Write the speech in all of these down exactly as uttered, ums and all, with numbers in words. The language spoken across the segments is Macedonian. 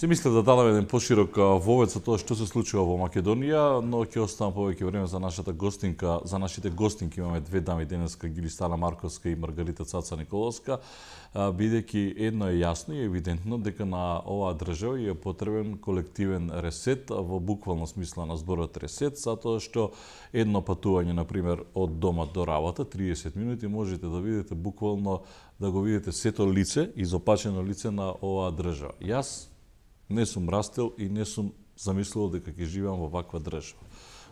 Си мислев да дадам еден поширок вовед со тоа што се случува во Македонија, но ќе оставам повеќе време за нашата гостинка, за нашите гостинки. Имаме две дами денеска, Гилистана Марковска и Маргарита Цаца Николовска, бидејќи едно е јасно и евидентно дека на оваа држава е потребен колективен ресет во буквално смисла на зборот ресет, затоа што едно патување, на пример, од дома до работа, триесет минути, можете да видите буквално, да го видите сето лице, изопачено лице на оваа држава. Јас не сум растел и не сум замислувал дека ќе живеам во ваква држава.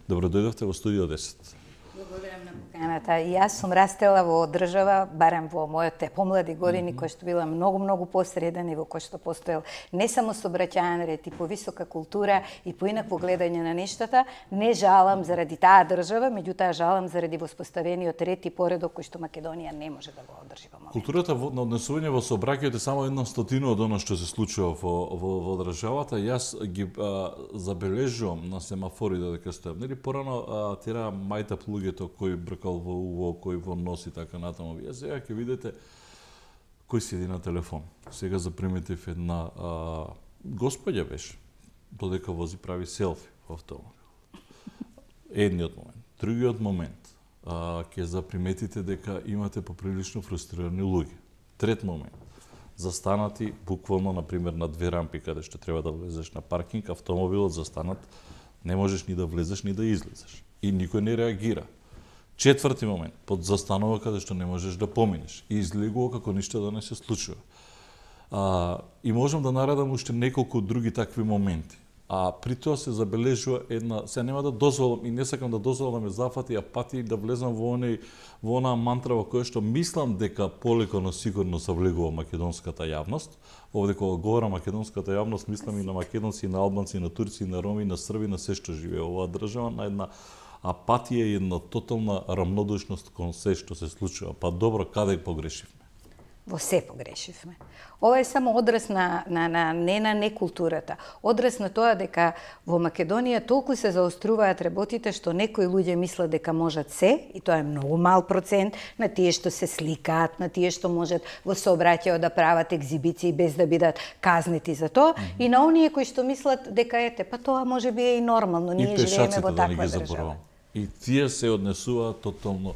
Добро дојдовте во студио десет. Благодарам на поканата. И јас сум растела во држава, барем во моите помлади години, mm -hmm. која што била многу, многу посреден и во која што постоел не само сообраќајен ред и повисока култура и поинакво гледање на нештата. Не жалам заради таа држава, меѓутоа жалам заради воспоставениот ред и поредок кој што Македонија не може да го одржи во моментот. Културата на однесување во сообраќајот е само една стотина од она што се случува во, во, во државата. Јас ги а, забележувам на семафори додека стојам. Нели порано тера мајта луѓето кој бркал во уво, кој во нос и така натаму. Вие сега ќе видите кој седи на телефон. Сега заприметив една а, господја беше, додека вози прави селфи во автомобил. Едниот момент. Другиот момент, а, ќе заприметите дека имате поприлично фрустрирани луѓе. Трет момент, застанати буквално, например, на две рампи, каде што треба да влезеш на паркинг, автомобилот застанат, не можеш ни да влезеш, ни да излезеш. И никој не реагира. Четврти момент, под застанува каде што не можеш да поминеш и излегува како ништо да не се случува. А, и можам да наредам уште неколку други такви моменти. А при тоа се забележува една, се нема да дозволам и не сакам да дозволам да ме зафати апатија и да влезам во оној во онаа мантра во која што мислам дека полеко но сигурно завлегува македонската јавност. Овде кога говорам македонската јавност, мислам и на македонци, и на албанци, и на турци, и на роми, и на срби, на се што живее оваа држава, на една апатија и една тотална рамнодушност кон се што се случува. Па добро, каде погрешивме? Во се погрешивме. Ова е само одраз на, на, на не на некултурата. Одраз на тоа дека во Македонија толку се заоструваат работите што некои луѓе мислат дека можат се, и тоа е многу мал процент, на тие што се сликаат, на тие што можат во сообраќајот да прават екзибиции без да бидат казнети за тоа, mm -hmm. и на оние кои што мислат дека ете, па тоа може би е и нормално, ние живееме во таква да држава. И тие се однесуваат тотално.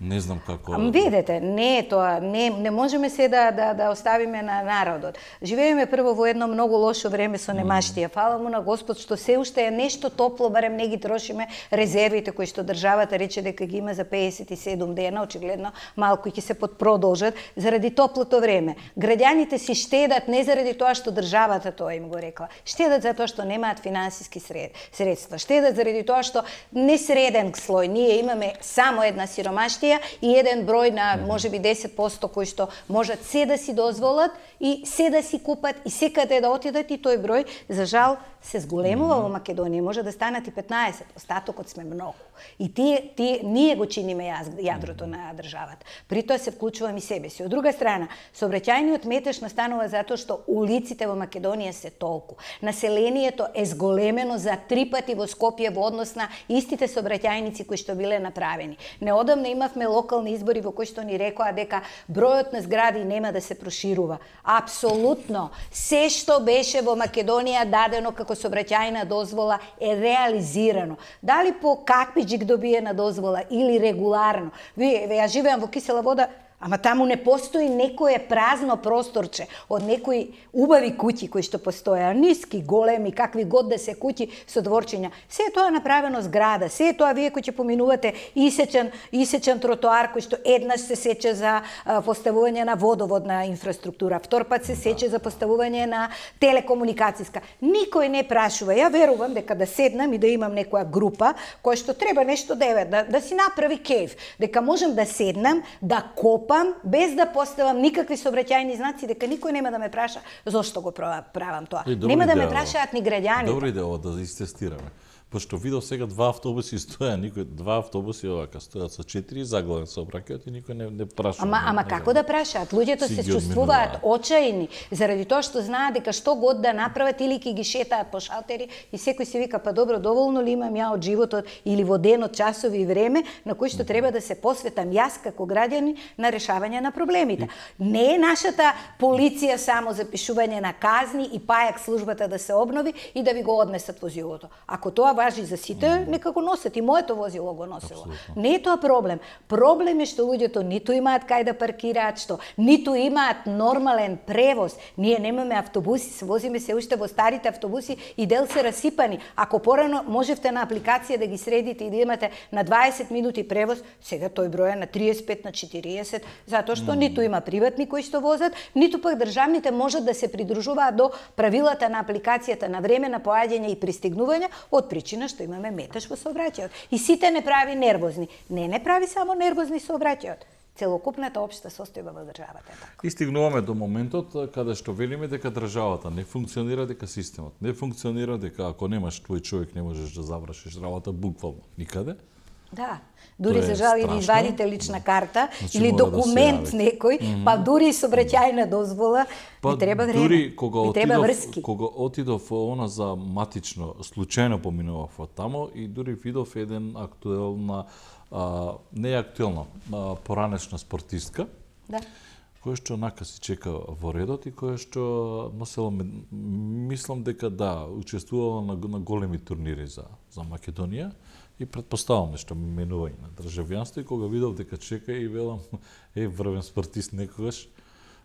Не знам како. Ам видете, не е тоа, не не можеме се да да да оставиме на народот. Живееме прво во едно многу лошо време со немаштија. Фала му на Господ што се уште е нешто топло, барем не ги трошиме резервите кои што државата рече дека ги има за пеесет и седум дена, очигледно малку ќе се подпродолжат заради топлото време. Граѓаните си штедат не заради тоа што државата тоа им го рекла. Штедат затоа што немаат финансиски средства. Штедат заради тоа што не среден слој. Ние имаме само една сиромаштија и еден број на можеби десет проценти кои што можат се да си дозволат и се да си купат и секаде да отидат, и тој број за жал се зголемува во Македонија, може да станат и петнаесет, остатокот сме многу. И тие, тие ние го чиниме јадрото на државата. При тоа се вклучувам и себе си. Од друга страна, сообраќајниот метеж настанува затоа што улиците во Македонија се толку. Населението е зголемено за три пати во Скопје во однос на истите сообраќајници кои што биле направени. Неодамна имавме локални избори во кои што ни рекоа дека бројот на згради нема да се проширува. Апсолутно, се што беше во Македонија дадено како сообраќајна дозвола е реализирано. Дали по какви джик добиена дозвола или регуларно. Вие, ја живеам во Кисела Вода, ама таму не постои некое празно просторче од некои убави куќи кои што постоја, ниски, големи, какви год да се куќи со дворчиња. Се е тоа направено зграда, се е тоа вие кои ќе поминувате исечен, исечен тротоар кој што еднаш се сече за а, поставување на водоводна инфраструктура, втор пат се сече за поставување на телекомуникацијска. Никој не прашува. Ја верувам дека да седнам и да имам некоја група која што треба нешто да да, да си направи кеф, дека можам да седнам, да копам без да поставам никакви сообраќајни знаци, дека никој нема да ме праша зошто го правам тоа. Е, нема идея, да ме прашаат ни граѓаните. Добра идеја да истестираме. пошто видов сега два автобуси стоја, никој два автобуси овака стојат со четири заглавен сообраќајот и никој не не прашува. Ама ама не, како не, да прашаат? Луѓето се ги чувствуваат одминуваат. очајни заради тоа што знаат дека што год да направат или ќе ги шетаат по шалтери и секој си вика па добро, доволно ли имам ја од животот или во денот, часови и време на кои што треба да се посветам јас како граѓанин на решавање на проблемите. Не е нашата полиција само запишување на казни и пајак службата да се обнови и да ви го однесат возилото. Ако тоа важи за сите, нека го носат, и моето возило го носило. Абсолютно. Не е тоа проблем. Проблем е што луѓето ниту имаат кај да паркираат, што ниту имаат нормален превоз. Ние немаме автобуси, се возиме се уште во старите автобуси и дел се расипани. Ако порано можевте на апликација да ги средите и да имате на дваесет минути превоз, сега тој број е на триесет и пет, на четириесет, затоа што mm. ниту има приватни кои што возат, ниту пак државните можат да се придружуваат до правилата на апликацијата на време на поаѓање и пристигнување, од причина што имаме метеж во сообраќајот. И сите не прави нервозни. Не, не прави само нервозни сообраќајот. Целокупната општа состојба во државата е така. И стигнуваме до моментот каде што велиме дека државата не функционира, дека системот не функционира, дека ако немаш твој човек не можеш да завршиш работа буквално никаде. Да. Дури за жал или извадите лична карта, значи, или документ да некој, mm -hmm. па дури сообраќајна дозвола, па, ви треба време. Дури кога ви треба отидов, врски. кога отидов она за матично, случајно поминував од тамо и дури видов еден актуелна, а, не актуелна, а, поранешна спортистка, да. која што нака си чека во редот и која што носела, мислам дека да, учествувала на, на големи турнири за, за Македонија. И предпоставам нешто менување на државјанство и кога видов дека чека и велам е врвен спортист некогаш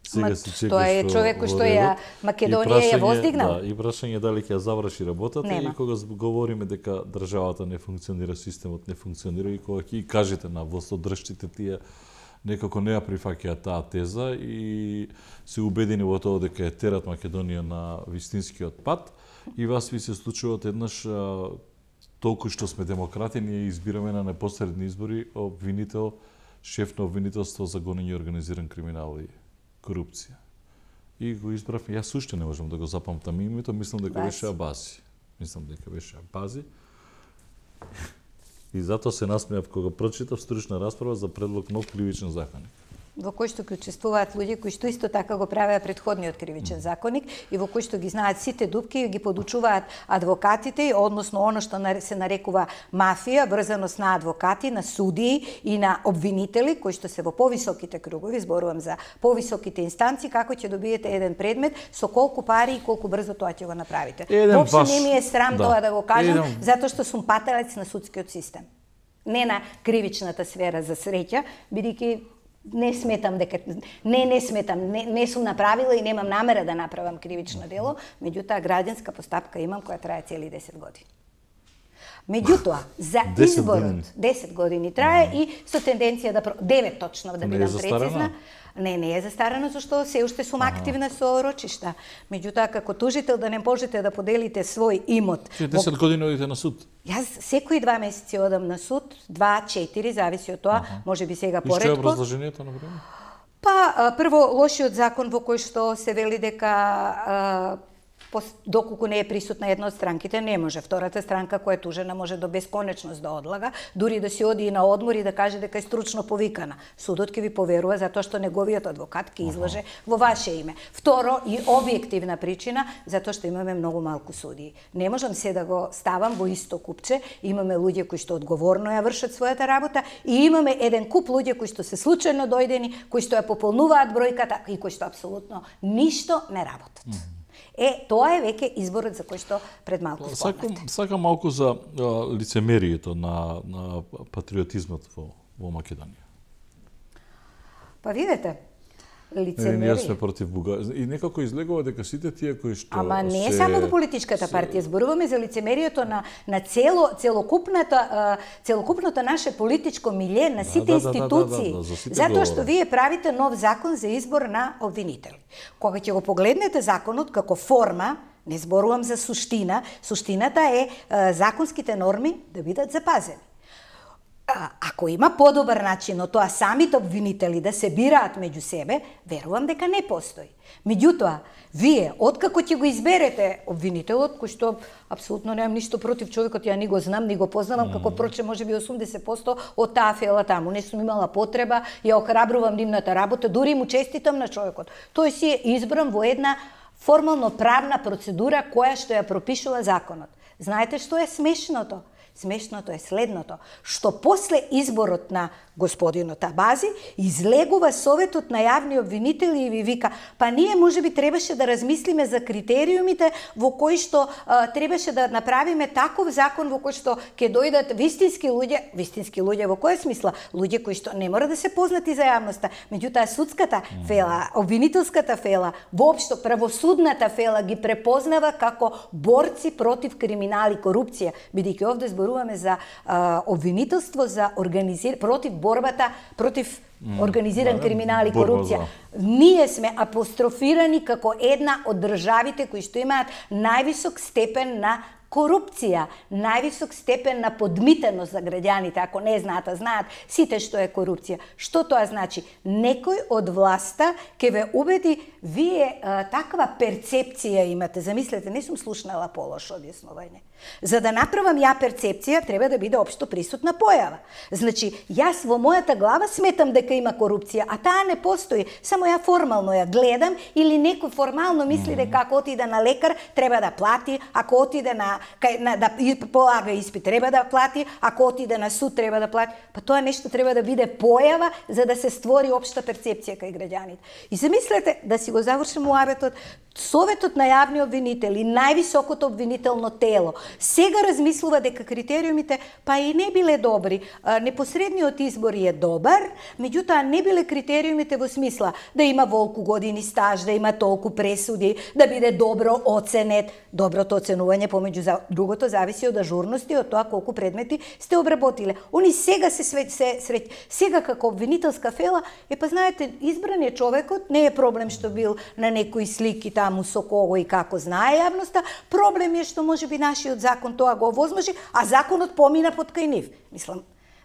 сега се чекаш. Тоа е човек кој што ја Македонија ја воздигнал. Да, и прашање дали ќе ја заврши работата. Нема. И кога говориме дека државата не функционира, системот не функционира и кога ќе кажете на властодржците тие некако не ја прифаќаат таа теза и се убедени во тоа дека е терат Македонија на вистинскиот пат и вас ви се случува еднаш толку што сме демократи, ние избираме на непосредни избори обвинител, шеф на обвинителство за гонење организиран криминал и корупција. И го избрав, јас уште не можам да го запамтам името, мислам дека беше Абази. Мислам дека беше Абази. И затоа се насмеав кога прочитав стручна расправа за предлог нов кривичен законник, во кој што учествуваат луѓе кои што исто така го правеа претходниот кривичен законник и во кој што ги знаат сите дупки и ги подучуваат адвокатите, односно оно што се нарекува мафија, врзаност на адвокати, на судии и на обвинители, кои што се во повисоките кругови, зборувам за повисоките инстанции, како ќе добиете еден предмет, со колку пари и колку брзо тоа ќе го направите. Воопшто не ми е срам да. тоа да го кажам, еден... затоа што сум паталец на судскиот систем. Не на кривичната сфера за среќа, бидејќи не сметам дека не не сметам, не, не сум направила и немам намера да направам кривично дело, меѓутоа граѓанска постапка имам која трае цели десет години. Меѓутоа, за изборот десет години трае и со тенденција да девет точно да бидам прецизна. Не, не е застарено, зашто се уште сум активна со рочишта. Меѓутоа, како тужител да не можете да поделите свој имот. десет години одите на суд? Јас секои два месеци одам на суд, два, четири, зависи од тоа, може би сега поредко. И што е образложението на време? Па, прво, лошиот закон во кој што се вели дека доколку не е присутна една од странките, не може. Втората странка која е тужена може до бесконечност да одлага, дури да си оди и на одмор и да каже дека е стручно повикана. Судот ќе ви поверува затоа што неговиот адвокат ќе излаже во ваше име. Второ, и објективна причина, затоа што имаме многу малку судии. Не можам се да го ставам во исто купче, имаме луѓе кои што одговорно ја вршат својата работа и имаме еден куп луѓе кои што се случајно дојдени, кои што ја пополнуваат бројката и кои што апсолутно ништо не работат. Е, тоа е веќе изборот за кој што пред малку спомнавте. Сакам, сакам малку за а, лицемерието на, на патриотизмот во, во Македонија. Па видете, лицемерие. Ние сме против Бугарија. И некако излегува дека сите тие кои што Ама не е се... само во политичката партија, зборуваме за лицемерието на на цело целокупната целокупното наше политичко милје, на сите да, институции. Да, да, да, да, затоа што вие правите нов закон за избор на обвинители. Кога ќе го погледнете законот како форма, не зборувам за суштина, суштината е законските норми да бидат запазени. ако има подобар начин од тоа самите обвинители да се бираат меѓу себе, верувам дека не постои. Меѓутоа, вие, откако ќе го изберете обвинителот, кој што апсолутно немам ништо против човекот, ја ни го знам, ни го познавам, mm. како проче може би осумдесет проценти од таа фела таму, не сум имала потреба, ја охрабрувам нивната работа, дури му честитам на човекот. Тој си е избран во една формално правна процедура која што ја пропишува законот. Знаете што е смешното? Смешното е следното, што после изборот на господинот Абази, излегува Советот на јавни обвинители и ви вика, па ние можеби требаше да размислиме за критериумите во кои што а, требаше да направиме таков закон во кој што ќе дојдат вистински луѓе, вистински луѓе во која смисла? Луѓе кои што не мора да се познати за јавноста, меѓутоа судската фела, обвинителската фела, воопшто правосудната фела ги препознава како борци против криминал и корупција, бидејќи овде зборуваме за а, обвинителство за организир против борбата против организиран mm, криминал и корупција. Ние сме апострофирани како една од државите кои што имаат највисок степен на корупција, највисок степен на подмитеност за граѓаните. Ако не знаат, а знаат сите што е корупција. Што тоа значи? Некој од власта ќе ве убеди, вие а, таква перцепција имате. Замислете, не сум слушнала полошо објаснување. За да направам ја перцепција, треба да биде општо присутна појава. Значи, јас во мојата глава сметам дека има корупција, а таа не постои. Само ја формално ја гледам или некој формално мисли дека ако отиде на лекар треба да плати, ако отиде на, кај, на да полага испит треба да плати, ако отиде на суд треба да плати. Па тоа нешто треба да биде појава за да се створи општа перцепција кај граѓаните. И замислете, да си го завршим муабетот, Советот на јавни обвинители, највисокото обвинително тело, сега размислува дека критериумите па и не биле добри. Непосредниот избор е добар, меѓутоа не биле критериумите во смисла да има волку години стаж, да има толку пресуди, да биде добро оценет. Доброто оценување помеѓу другото зависи од ажурност и од тоа колку предмети сте обработиле. Они сега се свет се сред сега како обвинителска фела, е па знаете, избран е човекот, не е проблем што бил на некои слики таму со кого и како знае јавноста, проблем е што можеби нашиот закон тоа го овозможи, а законот помина под кај нив. Мислам,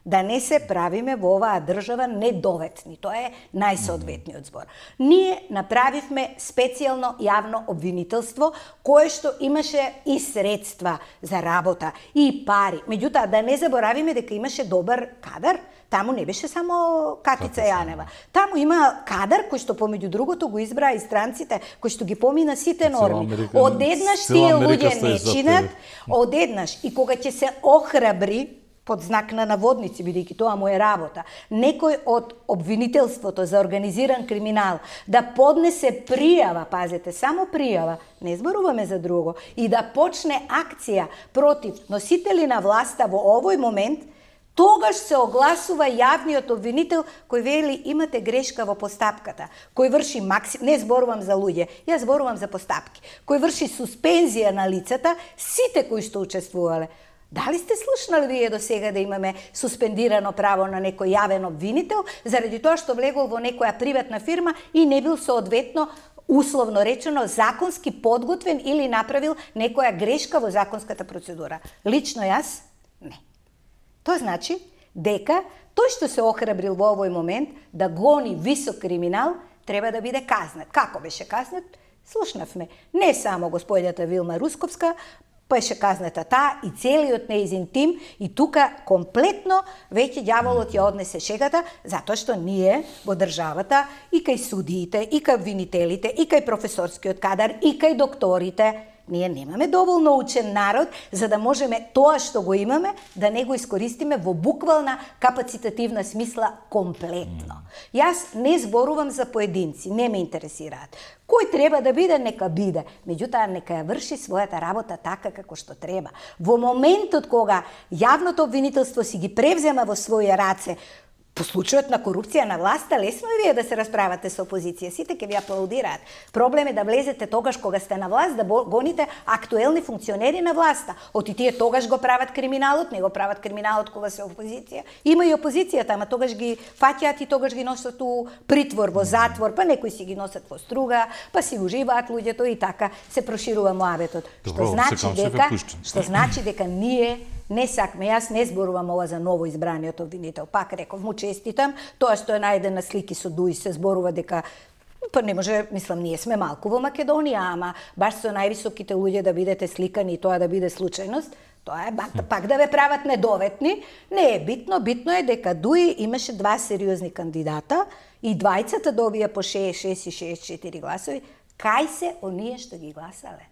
да не се правиме во оваа држава недоветни. Тоа е најсоодветниот збор. Ние направивме специјално јавно обвинителство, кое што имаше и средства за работа, и пари. Меѓутоа, да не заборавиме дека имаше добар кадар. Таму не беше само Катица Јанева. Таму има кадар кој што помеѓу другото го избраа и странците, кој што ги помина сите норми. Одеднаш тие луѓе не чинат, одеднаш и кога ќе се охрабри под знак на наводници, бидејќи тоа му е работа, некој од обвинителството за организиран криминал да поднесе пријава, пазете, само пријава, не зборуваме за друго, и да почне акција против носители на власта во овој момент, тогаш се огласува јавниот обвинител кој вели имате грешка во постапката, кој врши максим, не зборувам за луѓе, јас зборувам за постапки, кој врши суспензија на лицата, сите кои што учествувале. Дали сте слушнали вие до сега да имаме суспендирано право на некој јавен обвинител заради тоа што влегол во некоја приватна фирма и не бил соодветно, условно речено, законски подготвен или направил некоја грешка во законската процедура? Лично јас не. Тоа значи дека тој што се охрабрил во овој момент да гони висок криминал треба да биде казнет. Како беше казнет? Слушнавме. Не само господјата Вилма Русковска, беше казната таа и целиот нејзин тим, и тука комплетно веќе ѓаволот ја однесе шегата, затоа што ние во државата и кај судиите, и кај обвинителите, и кај професорскиот кадар, и кај докторите, ние немаме доволно учен народ за да можеме тоа што го имаме да не го искористиме во буквална капацитативна смисла комплетно. Јас не зборувам за поединци, не ме интересираат. Кој треба да биде, нека биде. Меѓутоа, нека ја врши својата работа така како што треба. Во моментот кога јавното обвинителство си ги превзема во своји раце, по случајот на корупција на власта, лесно е вие да се расправате со опозиција. Сите ќе ви аплаудираат. Проблем е да влезете тогаш кога сте на власт, да гоните актуелни функционери на власта. Оти тие тогаш го прават криминалот, не го прават криминалот кога се опозиција. Има и опозицијата, ама тогаш ги фаќаат и тогаш ги носат у притвор, во затвор, па некои си ги носат во струга, па си уживаат луѓето и така се проширува муабетот. Што значи дека, што значи дека ние не сакме, јас не зборувам ова за ново избраниот обвинител. Пак реков, му честитам, тоа што е најден на слики со Дуи се зборува дека па не може, мислам, ние сме малку во Македонија, ама баш со највисоките луѓе да бидете сликани и тоа да биде случајност, тоа е пак да ве прават недоветни. Не е битно, битно е дека Дуи имаше два сериозни кандидата и двајцата добија по шеесет и шест и шеесет и четири гласови. Кај се оние што ги гласале?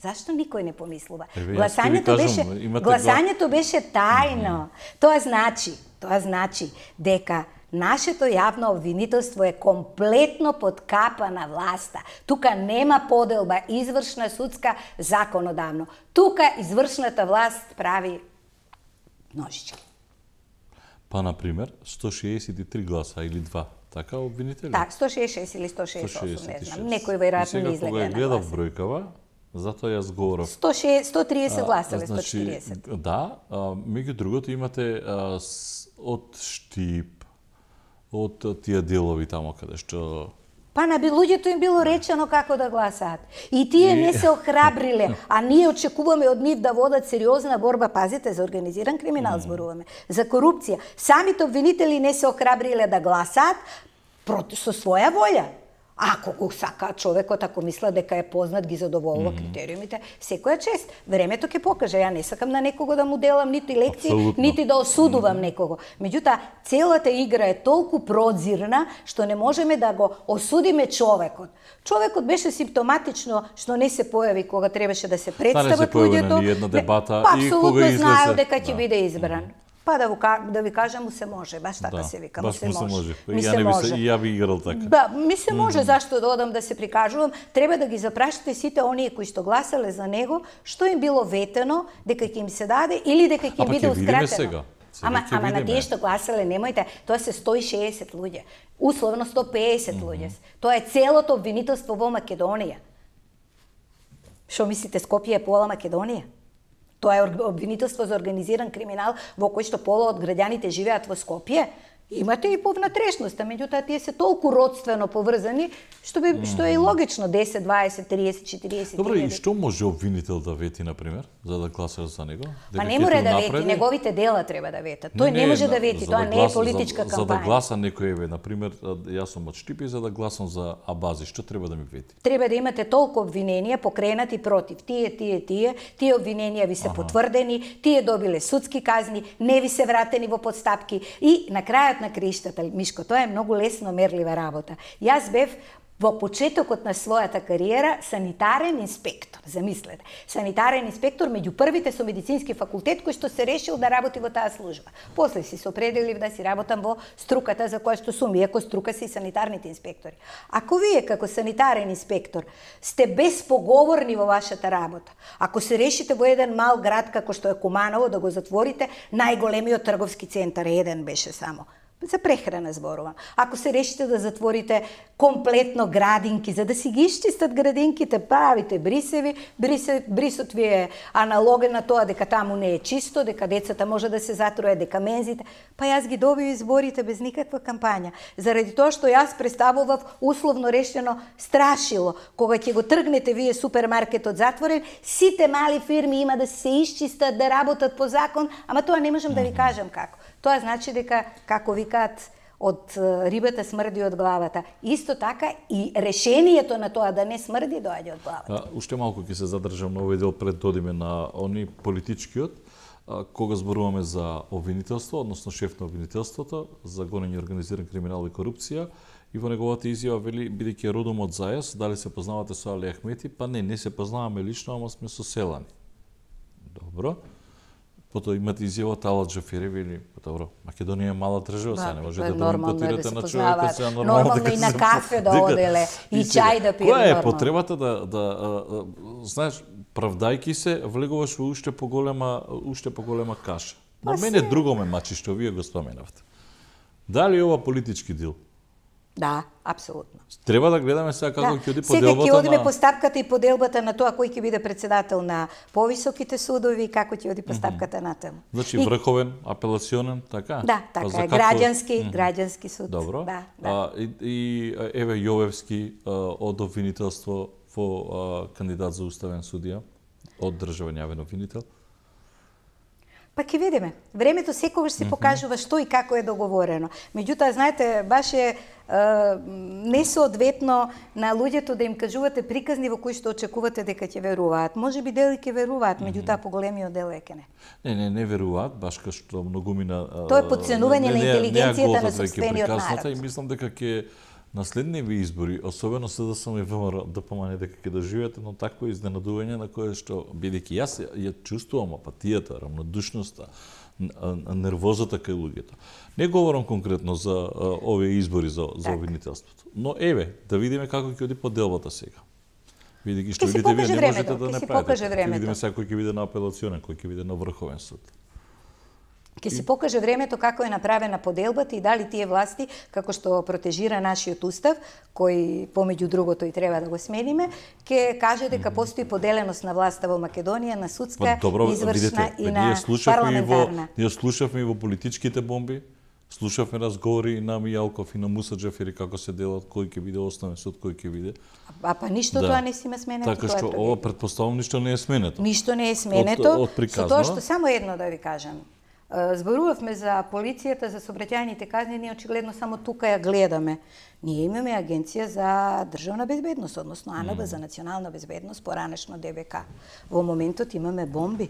Зашто никој не помислува? Еве, гласањето беше гласањето беше тајно. Mm-hmm. Тоа значи, тоа значи дека нашето јавно обвинителство е комплетно под капа на власта. Тука нема поделба извршна, судска, законодавно. Тука извршната власт прави ножички. Па, например, сто шеесет и три гласа или два. Така обвинители? Так, сто шеесет и шест или сто шеесет и осум, не знам. Некој веројатно не излега на гласа. Гледав бројкава, затоа јас говорам. сто шест, сто триесет гласале, сто четириесет. Да, меѓу другото имате а, с, од Штип, од тие делови тамо каде што... Па на луѓето им било речено како да гласаат. И тие не се охрабриле, а ние очекуваме од нив да водат сериозна борба, пазите, за организиран криминал зборуваме, за корупција. Самите обвинители не се охрабриле да гласаат со своја волја. Ако го сака човекот, ако мисла дека е познат, ги задоволува mm -hmm. критериумите, секоја чест. Времето ќе покаже. Ја не сакам на некого да му делам нити лекции, Абсолютно. Нити да осудувам mm -hmm. некого. Меѓутоа, целата игра е толку прозирна што не можеме да го осудиме човекот. Човекот беше симптоматично што не се појави кога требаше да се представат луѓето. Една дебата па, и кога излезе... знаел дека ќе да. биде избран. Mm -hmm. Па да, да ви кажам, му се може, баш така да, се вика, му се може. може. Ми се може. И ја би играл така. Да, ми се може, mm -hmm. зашто да одам да се прикажувам, треба да ги запрашате сите оние кои што гласале за него, што им било ветено дека ќе им се даде или дека ќе биде ускратено. Сега. Сега ама ама на тие што гласале, немојте, тоа се сто и шеесет луѓе, условно сто и песет mm -hmm. луѓе. Тоа е целото обвинителство во Македонија. Што мислите, Скопје е пола Македонија? Тоа е обвинителство за организиран криминал во кој што пола од граѓаните живеат во Скопје. Имате и по внатрешноста, меѓутоа тие се толку родствено поврзани, што би mm. што е и логично десет, дваесет, триесет, четириесет. Добро, и што може обвинител да вети, на пример, за да гласаш за него? Па не може да вети, неговите дела треба да ветат. Тој не, не, не може да вети, тоа да не гласа, е политичка за, кампања. За да гласа некој, еве, на пример, јас сум од Штипи, за да гласам за Абази, што треба да ми вети? Треба да имате толку обвиненија покренати против тие, тие, тие, тие обвиненија ви се ага. потврдени, тие добиле судски казни, не ви се вратени во подстапки и на крајот на криштата, Мишко, тоа е многу лесно мерлива работа. Јас бев во почетокот на својата кариера санитарен инспектор, замислете. Санитарен инспектор меѓу првите со медицински факултет кој што се решил да работи во таа служба. После си се определив да си работам во струката за која што сум, иако струка се и санитарните инспектори. Ако вие како санитарен инспектор сте безпоговорни во вашата работа, ако се решите во еден мал град како што е Куманово да го затворите, најголемиот трговски центар, еден беше само, за прехрана зборувам. Ако се решите да затворите комплетно градинки, за да си ги исчистат градинките, правите брисеви, брисе, брисот ви е аналоген на тоа дека таму не е чисто, дека децата може да се затруе, дека мензите, па јас ги добив изборите без никаква кампања. Заради тоа што јас представував условно решено страшило. Кога ќе го тргнете вие супермаркетот затворен, сите мали фирми има да се исчистат, да работат по закон, ама тоа не можам да ви кажам како. Тоа значи дека, како викаат, од рибата смрди од главата. Исто така и решението на тоа да не смрди доаѓа од главата. А, уште малку ќе се задржам на овој дел пред додиме на они политичкиот, а, кога зборуваме за обвинителство, односно шеф на обвинителството, за гонење организиран криминал и корупција, и во неговата изјава вели, бидејќи е родом од Зајас, дали се познавате со Али Ахмети? Па не, не се познаваме лично, ама сме соселани. Добро. Потоа имате изјава од Ала Џафери, вели, добро, Македонија е мала држава, сега не можете да импутирате на човекот, сега нормално нормално и на кафе да оделе, и чај да пије. Која е потребата да, да, знаеш, правдајки се, влегуваш во уште поголема, уште поголема каша. На мене друго ме мачи што вие го споменавте. Дали ова политички дил? Да, апсолутно. Треба да гледаме сега како ќе оди поделбата на... Сега ќе одиме постапката и поделбата на тоа кој ќе биде председател на повисоките судови и како ќе оди постапката mm -hmm. натаму. Значи и... врховен, апелационен, така? Да, така е, како... граѓански, mm -hmm. граѓански суд. Добро. Да, да. А, и, и еве Јовевски а, од обвинителство во а, кандидат за уставен судија од државен јавен обвинител. Па ќе видиме. Времето секогаш се покажува што и како е договорено. Меѓутоа, знаете, баш е несоодветно на луѓето да им кажувате приказни во кои што очекувате дека ќе веруваат. Може би дели ќе веруваат, меѓутоа поголемиот дел е ке не. Не, не, не веруваат, баш кај што многумина Тоа е потценување на интелигенцијата на сопствениот народ. И мислам дека ќе на следниве избори, особено СДСМ и ВМРО, да помане дека ќе доживеат едно такво изненадување на кое што, бидејќи јас ја чувствувам апатијата, рамнодушноста, нервозата кај луѓето. Не говорам конкретно за а, овие избори за, за обвинителството, но еве, да видиме како ќе оди поделбата сега. Бидејќи што видите вие не можете да направите. Ќе видиме сега кој ќе биде на апелационен, кој ќе биде на врховен суд. Ќе се покаже времето како е направена поделбата и дали тие власти, како што протежира нашиот устав, кој помеѓу другото и треба да го смениме, ќе каже дека постои поделеност на власта во Македонија на судска, па, добро, извршна видите, и на парламентарна. Ние слушавме и во политичките бомби, слушавме разговори и на Мијалков и на Муса Џафери како се делат, кој ќе биде основен суд, кој ќе биде. А па ништо да. Тоа не си има сменето. Така што ова претпоставувам ништо не е сменето. Ништо не е сменето. Од, од приказно. Со тоа што само едно да ви кажам. Зборувавме за полицијата, за сообраќајните казни, ние очигледно само тука ја гледаме. Ние имаме Агенција за државна безбедност, односно АНБ mm. за национална безбедност, поранешно ДВК. Во моментот имаме бомби.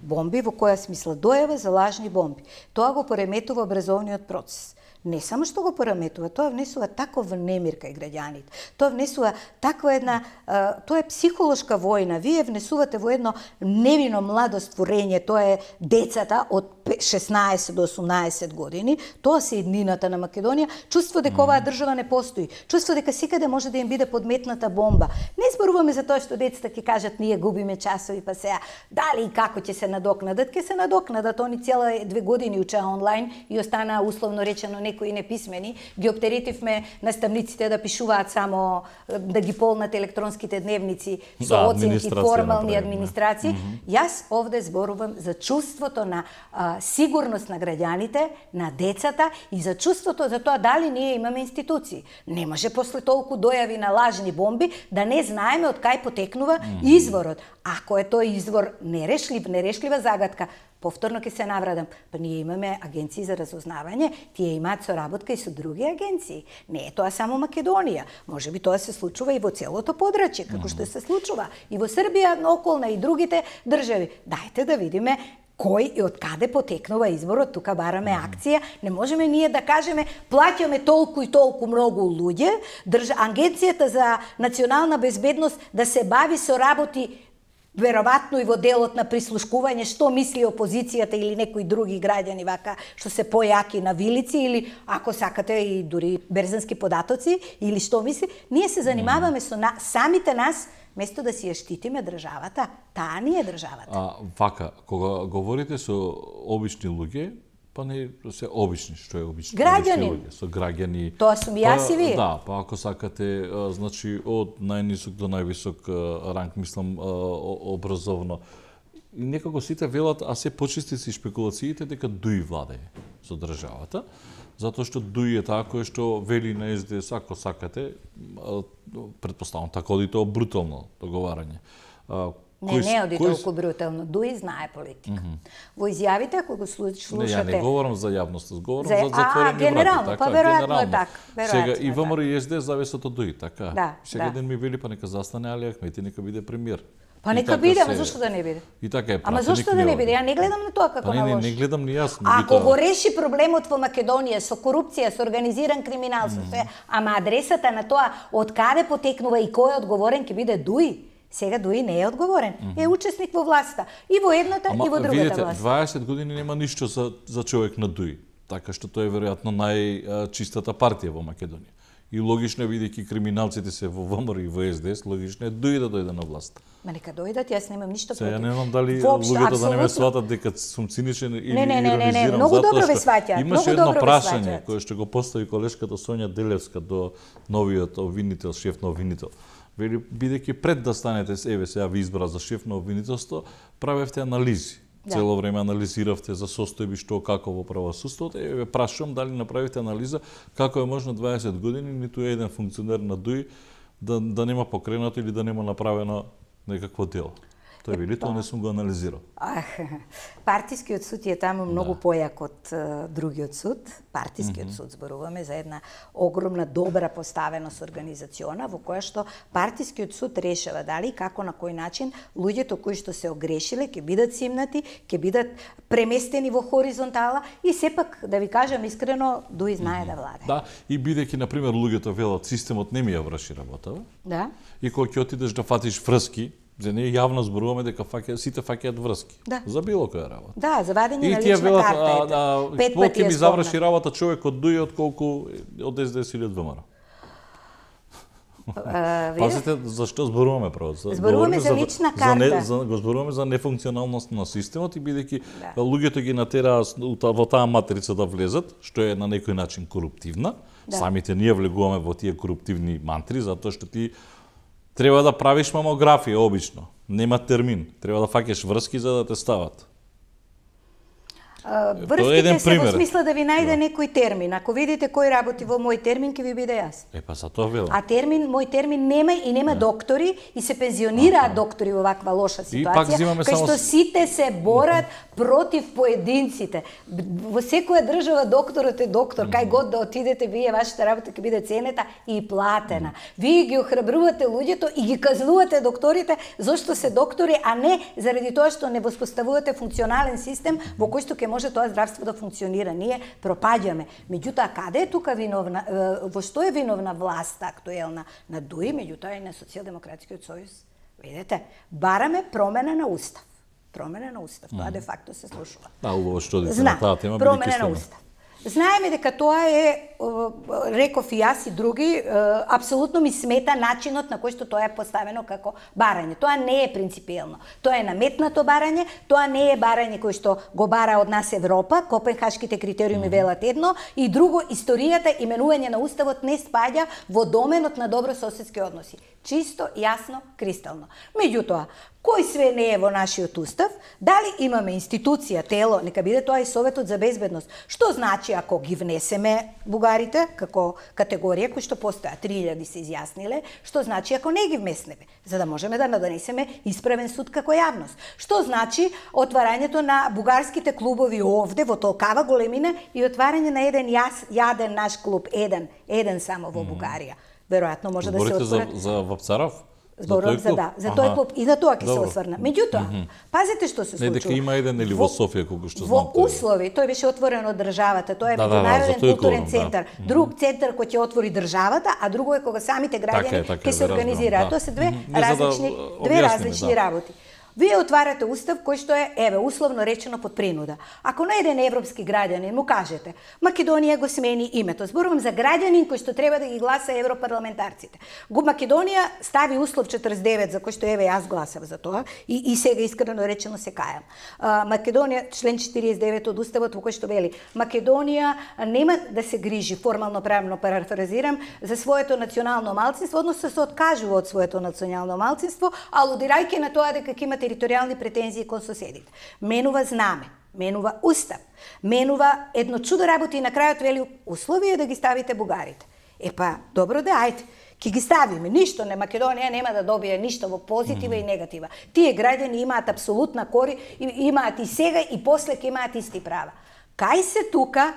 Бомби во која смисла дојава за лажни бомби. Тоа го пореметува образовниот процес. Не само што го пораметува, тоа внесува таков немир кај граѓаните. Тоа внесува таква една, а, тоа е психолошка војна. Вие внесувате во едно невино младо створење, тоа е децата од шеснаесет до осумнаесет години, тоа се еднината на Македонија, чувство дека оваа држава не постои, чувство дека секаде може да им биде подметната бомба. Не зборуваме за тоа што децата ќе кажат ние губиме часови, па сега дали и како ќе се надокнадат, ќе се надокнадат, они цела две години учеа онлайн и останаа условно речено некои неписмени, ги оптеретивме наставниците да пишуваат само, да ги полнат електронските дневници со да, оценки, формални администрации. Mm -hmm. Јас овде зборувам за чувството на а, сигурност на граѓаните, на децата и за чувството за тоа дали ние имаме институции. Не може после толку дојави на лажни бомби да не знаеме од кај потекнува mm -hmm. изворот. Ако е тој извор нерешлив, нерешлива загадка, повторно ќе се наврадам. Па ние имаме агенции за разузнавање, тие имаат соработка и со други агенции. Не е тоа само Македонија. Може би тоа се случува и во целото подрачје, како што се случува и во Србија, околна и другите држави. Дајте да видиме кој и од каде потекнува изборот, тука бараме акција. Не можеме ние да кажеме плаќаме толку и толку многу луѓе, држа агенцијата за национална безбедност да се бави со работи веројатно и во делот на прислушкување што мисли опозицијата или некои други граѓани вака што се појаки на вилици или ако сакате и дури берзански податоци или што мисли, ние се занимаваме со на, самите нас место да си ја штитиме државата. Таа ни е државата. А вака, кога говорите со обични луѓе, па не се обични, што е обични граѓани луѓе, со граѓани. Тоа сум јас и вие. Да, па ако сакате, значи од најнисок до највисок ранг, мислам образовно. И некако сите велат, а се почисти си шпекулациите дека ДУИ владее со државата, затоа што ДУИ е таа кој што вели на Ес Де Ес, ако сакате, претпоставам така оди тоа брутално договарање. Не, не оди толку брутално. ДУИ знае политика. Mm -hmm. Во изјавите, ако го слушате... Не, ја не говорам за јавност, говорам за, за затворени врати. А, генерално, така, па веројатно е така. Сега и ВМРО и Ес Де Ес зависат од ДУИ, така. Да, сега да. ден ми вели, па нека застане Али Ахмети, нека биде премиер. Па нека биде, ама зошто да не биде? И така е. Ама зошто да не биде? Ја не гледам на тоа како па, на не, лош. Не, не гледам ни јас. Ако го реши проблемот во Македонија со корупција, со организиран криминал, со све, ама адресата на тоа од каде потекнува и кој е одговорен ќе биде ДУИ. Сега ДУИ не е одговорен. Mm -hmm. Е учесник во власта. И во едната, Ама, и во другата видите, власт. дваесет години нема ништо за, за човек на ДУИ. Така што тоа е веројатно најчистата партија во Македонија. И логично е, бидејќи криминалците се во ВМРО и во Ес Де Ес, логично е ДУИ да дојде на власт. Ма нека дојдат, јас немам ништо против. Сега не знам дали Воопшто, луѓето да не ме апсолутно. сватат дека сум циничен или Не, не, не, не, не, иронизирам, многу затоа добро ве што сваќаат, Имаше многу едно добро ве прашање сваќаат. кое што го постави колешката Сонја Делевска до новиот обвинител, шеф на обвинител. Вели, бидејќи пред да станете, еве сега ви избра за шеф на обвинителство, правевте анализи. Да. Цело време анализиравте за состојби што како во правосудството. Еве прашувам дали направите анализа како е можно дваесет години ниту еден функционер на ДУИ да, да нема покренато или да нема направено некакво дело. Тој вели, тоа не сум го анализирал. Ах, партискиот суд е таму многу да. појак од uh, другиот суд. Партискиот mm -hmm. суд зборуваме за една огромна добра поставеност организациона во која што партискиот суд решава дали како на кој начин луѓето кои што се огрешиле ќе бидат симнати, ќе бидат преместени во хоризонтала и сепак да ви кажам искрено Дуи знае mm -hmm. да владе. Да, и бидејќи на пример луѓето велат системот не ми ја врши работава. Да. И кога ќе отидеш да фатиш врски, за ние јавно зборуваме дека фаќа, сите фаќаат врски. Да. За било која работа. Да, за вадење на лична велат, карта. А, да, Пет пати ќе ми заврши работа човек од Дуи отколку од Ес Де Ес или од ВМРО. Uh, Пазите, зашто зборуваме право? Зборуваме за лична карта. За не, за, го зборуваме за нефункционалност на системот и бидејќи да. луѓето ги натераа во таа матрица да влезат, што е на некој начин коруптивна. Да. Самите ние влегуваме во тие коруптивни мантри, затоа што ти треба да правиш мамографија обично. Нема термин. Треба да фаќаш врски за да те стават. Uh, врските се во смисла да ви најде да. некој термин. Ако видите кој работи во мој термин, ќе ви биде јасно. Е, па за тоа велам. А термин, мој термин нема и нема не. доктори и се пензионираат а, доктори во ваква лоша ситуација, кај само... што сите се борат против поединците. Во секоја држава докторот е доктор, кај год да отидете, вие вашата работа ќе биде ценета и платена. Вие ги охрабрувате луѓето и ги казнувате докторите зошто се доктори, а не заради тоа што не воспоставувате функционален систем во кој што ќе може тоа здравство да функционира. Ние пропаѓаме. Меѓутоа, каде е тука виновна, во што е виновна власта актуелна? На Дуи, меѓутоа и на Социјалдемократскиот сојуз. Видете, бараме промена на устав. Промена на устав. Тоа де факто се слушува. Да, убаво што дите на таа тема. Промена на устав. Знаеме дека тоа е, реков и јас и други, апсолутно ми смета начинот на кој што тоа е поставено како барање. Тоа не е принципиелно. Тоа е наметнато барање, тоа не е барање кој што го бара од нас Европа, Копенхашките критериуми велат едно, и друго, историјата, именување на уставот не спаѓа во доменот на добрососедски односи. Чисто, јасно, кристално. Меѓутоа, кој све не е во нашиот устав, дали имаме институција, тело, нека биде тоа и Советот за безбедност. Што значи ако ги внесеме бугарите како категорија кои што постојат, три илјади се изјасниле, што значи ако не ги внеснеме, за да можеме да надонесеме исправен суд како јавност. Што значи отварањето на бугарските клубови овде во толкава големина и отварање на еден јас, јаден наш клуб, еден, еден само во Бугарија. Веројатно може да се отвора. за, за Вапцаров? Зборувам за, за да, за тој клуб и за тоа ќе се осврна. Меѓутоа, mm -hmm. пазете што се случува. Не дека има еден или во Софија колку што знам. Во услови, тој беше отворен од државата, тоа е да, меѓународен да, да, културен да. центар. Друг центар кој ќе отвори државата, а друго е кога самите граѓани ќе се организираат. Тоа се две mm -hmm. различни, да две различни да. работи. Вие отварате устав кој што е, еве, условно речено под принуда. Ако на еден европски граѓанин му кажете, Македонија го смени името, зборувам за граѓанин кој што треба да ги гласа европарламентарците. Го Македонија стави услов четрдесет и девет, за кој што еве јас гласав за тоа, и, и сега искрено речено се кајам. А, Македонија, член четиридесет и девет од уставот во кој што вели, Македонија нема да се грижи, формално правно парафразирам, за своето национално малцинство, односно се откажува од своето национално малцинство, алудирајќи на тоа дека ќе има територијални претензии кон соседите. Менува знаме, менува устав, менува едно чудо работи и на крајот вели услови е да ги ставите бугарите. Е па, добро да, ајде, ќе ги ставиме. Ништо не, Македонија нема да добие ништо во позитива mm -hmm. и негатива. Тие граѓани имаат апсолутна кори, имаат и сега и после ќе имаат исти права. Кај се тука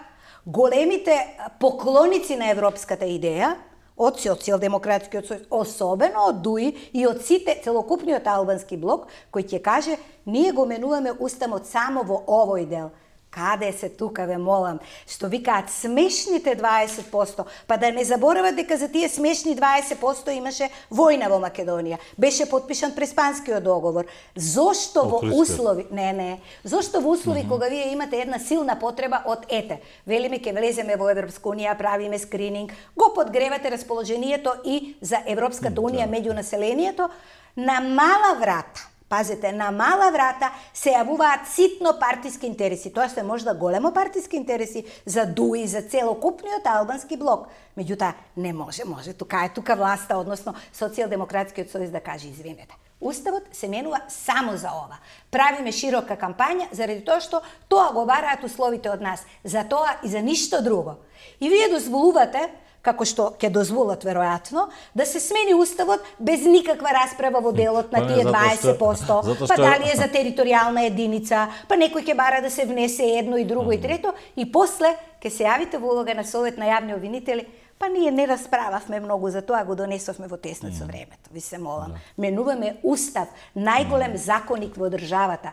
големите поклоници на европската идеја, од Социјалдемократскиот сојуз, особено од Дуи и од сите целокупниот албански блок, кој ќе каже, ние го менуваме уставот само во овој дел. Каде се тука, ве молам, што викаат смешните дваесет проценти, па да не заборават дека за тие смешни дваесет проценти имаше војна во Македонија. Беше подпишан Преспанскиот договор. Зошто во услови, не, не, зошто во услови mm -hmm. кога вие имате една силна потреба од ете, велиме ќе влеземе во Европска унија, правиме скрининг, го подгревате расположението и за Европската унија меѓу населението, на мала врата, пазете, на мала врата се јавуваат ситно партиски интереси. Тоа се можда големо партиски интереси за Дуи, за целокупниот албански блок. Меѓутоа, не може, може, тука е тука власта, односно Социјалдемократскиот сојуз да каже извинете. Уставот се менува само за ова. Правиме широка кампања заради тоа што тоа го бараат условите од нас. За тоа и за ништо друго. И вие дозволувате како што ќе дозволат веројатно, да се смени уставот без никаква расправа во делот на тие дваесет проценти, па дали е за територијална единица, па некој ќе бара да се внесе едно и друго и трето, и после ќе се јавите во улога на Совет на јавни обвинители. Па ние не расправавме многу за тоа, го донесовме во теснет со времето. Ви се молам. Менуваме устав, најголем законник во државата.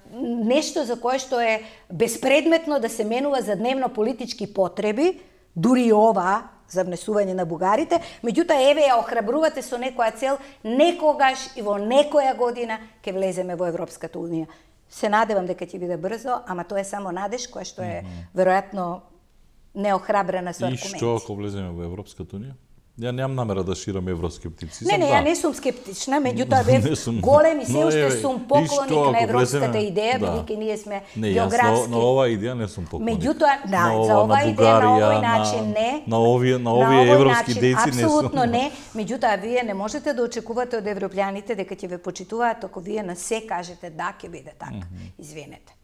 Нешто за кое што е безпредметно да се менува за дневно политички потреби, дури ова за внесување на бугарите, меѓутоа еве ја охрабрувате со некоја цел, некогаш и во некоја година ќе влеземе во Европската унија. Се надевам дека ќе биде брзо, ама тоа е само надеж која што е веројатно неохрабрена со аргументи. И што ако влеземе во Европската унија? Ја немам намера да ширам евроскептицизам. Не, не, ја не сум скептична, меѓутоа бев голем и се уште сум поклоник на европската идеја, бидејќи ние сме географски. На оваа идеја не сум поклоник. Меѓутоа, да, за оваа идеја на овој начин не. На овие на овие европски дејци не сум. Апсолутно не. Меѓутоа вие не можете да очекувате од европјаните дека ќе ве почитуваат ако вие на се кажете да ќе биде така. Извинете.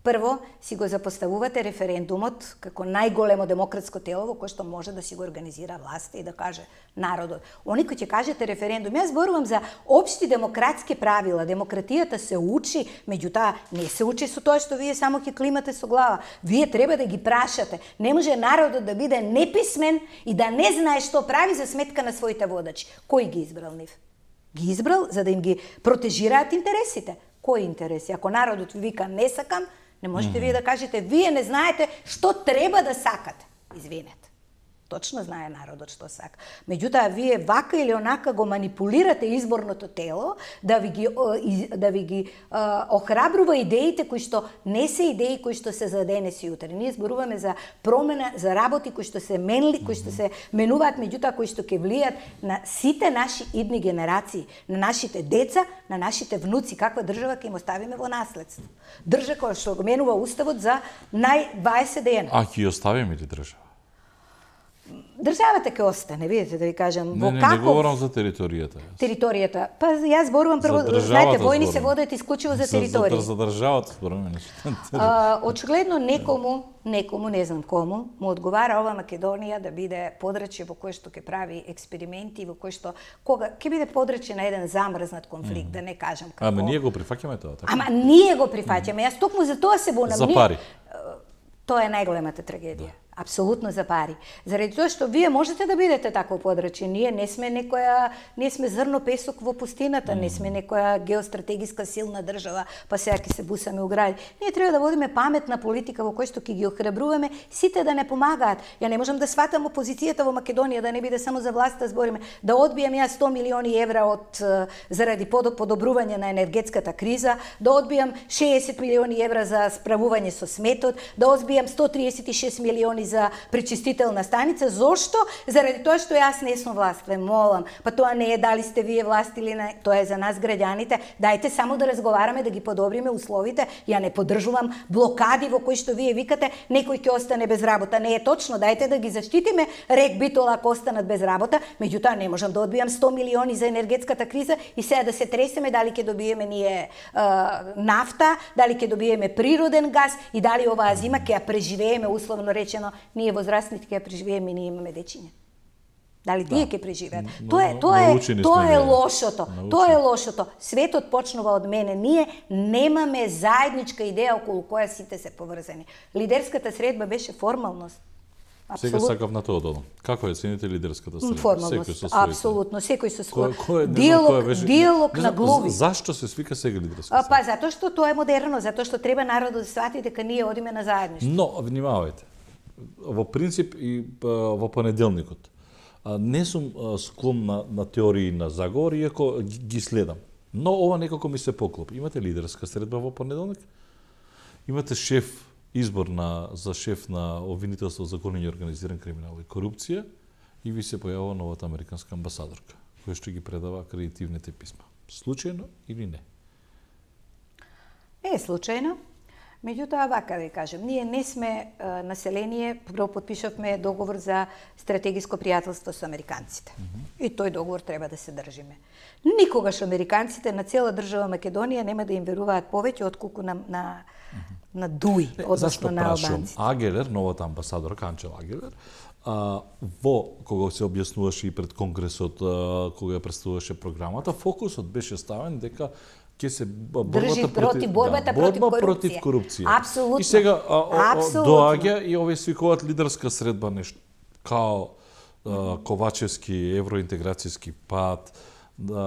Прво, си го запоставувате референдумот како најголемо демократско тело во кое што може да си го организира власта и да каже народот. Они кои ќе кажете референдум, јас зборувам за општи демократски правила. Демократијата се учи, меѓутоа не се учи со тоа што вие само ќе климате со глава. Вие треба да ги прашате. Не може народот да биде неписмен и да не знае што прави за сметка на своите водачи. Кој ги избрал нив? Ги избрал за да им ги протежираат интересите. Кои интереси? Ако народот ви вика не сакам, не можете вие да кажете, вие не знаете што треба да сакате. Извинете. Точно знае народот што сака. Меѓутоа, вие вака или онака го манипулирате изборното тело да ви ги, да ви ги а, охрабрува идеите кои што не се идеи кои што се за денес и утре. Ние зборуваме за промена, за работи кои што се менли, кои што се менуваат, меѓутоа кои што ќе влијат на сите наши идни генерации, на нашите деца, на нашите внуци, каква држава ќе им оставиме во наследство. Држава која што го менува уставот за нај дваесет дена. А ќе оставиме ли држава? Државата ќе остане, видите да ви кажам, во каков... Не, не, не говорам за територијата. Јас. Територијата. Па јас зборувам прво, знаете, војни се водат исклучиво за територија. За, за, за државата зборуваме. Очигледно некому, некому, не знам кому, му одговара ова Македонија да биде подрачје во кое што ќе прави експерименти, во кое што кога ќе биде подрачје на еден замрзнат конфликт, mm. да не кажам како. Ама ние го прифаќаме тоа, така? Ама ние го прифаќаме. Јас токму за тоа се бунам. За пари. Тоа е најголемата трагедија. Да. Апсолутно за пари. Заради тоа што вие можете да бидете такво подрачје, ние не сме некоја, не сме зрно песок во пустината, mm. не сме некоја геостратегиска силна држава, па сега ќе се бусаме у гради. Ние треба да водиме паметна политика во која што ќе ги охрабруваме сите да не помагаат. Ја не можам да сватам опозицијата во Македонија да не биде само за власта збориме, да одбијам јас сто милиони евра од заради подобрување на енергетската криза, да одбијам шеесет милиони евра за справување со сметот, да одбијам сто триесет и шест милиони за пречистителна станица. Зошто? Заради тоа што јас не сум власт, ве молам. Па тоа не е дали сте вие власт или не, тоа е за нас граѓаните. Дајте само да разговараме, да ги подобриме условите. Ја не поддржувам блокади во кои што вие викате некој ќе остане без работа. Не е точно. Дајте да ги заштитиме Рек Битола ако останат без работа. Меѓутоа не можам да одбијам сто милиони за енергетската криза и сега да се тресеме дали ќе добиеме ние а, нафта, дали ќе добиеме природен газ и дали оваа зима ќе ја преживееме условно речено. Ние возрастните ќе ја преживееме и ние имаме дечиња. Дали тие ќе преживеат? Тоа е тоа е тоа е лошото. Тоа е лошото. Светот почнува од мене. Ние немаме заедничка идеја околу која сите се поврзани. Лидерската средба беше формалност. Сега сакав на тоа додам. Како е цените лидерската средба? Формалност. Апсолутно, секој со свој диалог, диалог на глуви. Зашто се свика сега лидерска средба? Па затоа што тоа е модерно, затоа што треба народот да свати дека ние одиме на заедништво. Но внимавајте. Во принцип и во понеделникот. Не сум склон на, на теории на заговор, иако ги следам. Но ова некако ми се поклопи. Имате лидерска средба во понеделник, имате шеф, избор на, за шеф на обвинителство за гонење организиран криминал и корупција и ви се појавува новата американска амбасадорка, која што ги предава акредитивните писма. Случајно или не? Не е случајно. Меѓутоа, вака да кажем, ние не сме а, население, прво подпишавме договор за стратегиско пријателство со американците. Mm -hmm. И тој договор треба да се држиме. Никогаш американците на цела држава Македонија нема да им веруваат повеќе отколку на, на, mm -hmm. на Дуи, односно на албанците. Агелер, новата амбасадорка Анчел Агелер, а, во кога се објаснуваше и пред Конгресот, а, кога ја представуваше програмата, фокусот беше ставен дека ќе се борбата против борбата да, против борба корупција. против корупција. Апсолутно. И сега а, а, Апсолутно. доаѓа и овој свикуваат лидерска средба нешто као а, Ковачевски евроинтеграцијски пат, да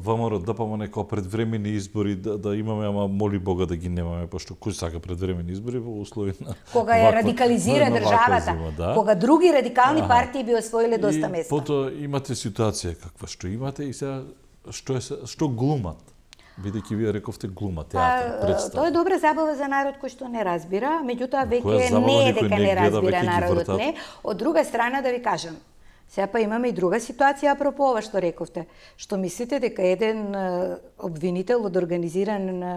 ВМРО ДПМН како предвремени избори да, да имаме, ама моли Бога да ги немаме, пошто кој сака предвремени избори во услови на кога ја радикализира државата, зима, да. Кога други радикални Аха. партии би освоиле доста и места. Потоа имате ситуација каква што имате и сега што е што глумат. Бидејќи вие рековте глума, театар, представа. Тоа е добра забава за народ кој што не разбира, меѓутоа Која веќе забава не е никој дека не не гледа, разбира веќе ги народот, вртат. не. Од друга страна да ви кажам, сега па имаме и друга ситуација апропо ова што рековте. Што мислите дека еден е, обвинител од организиран е,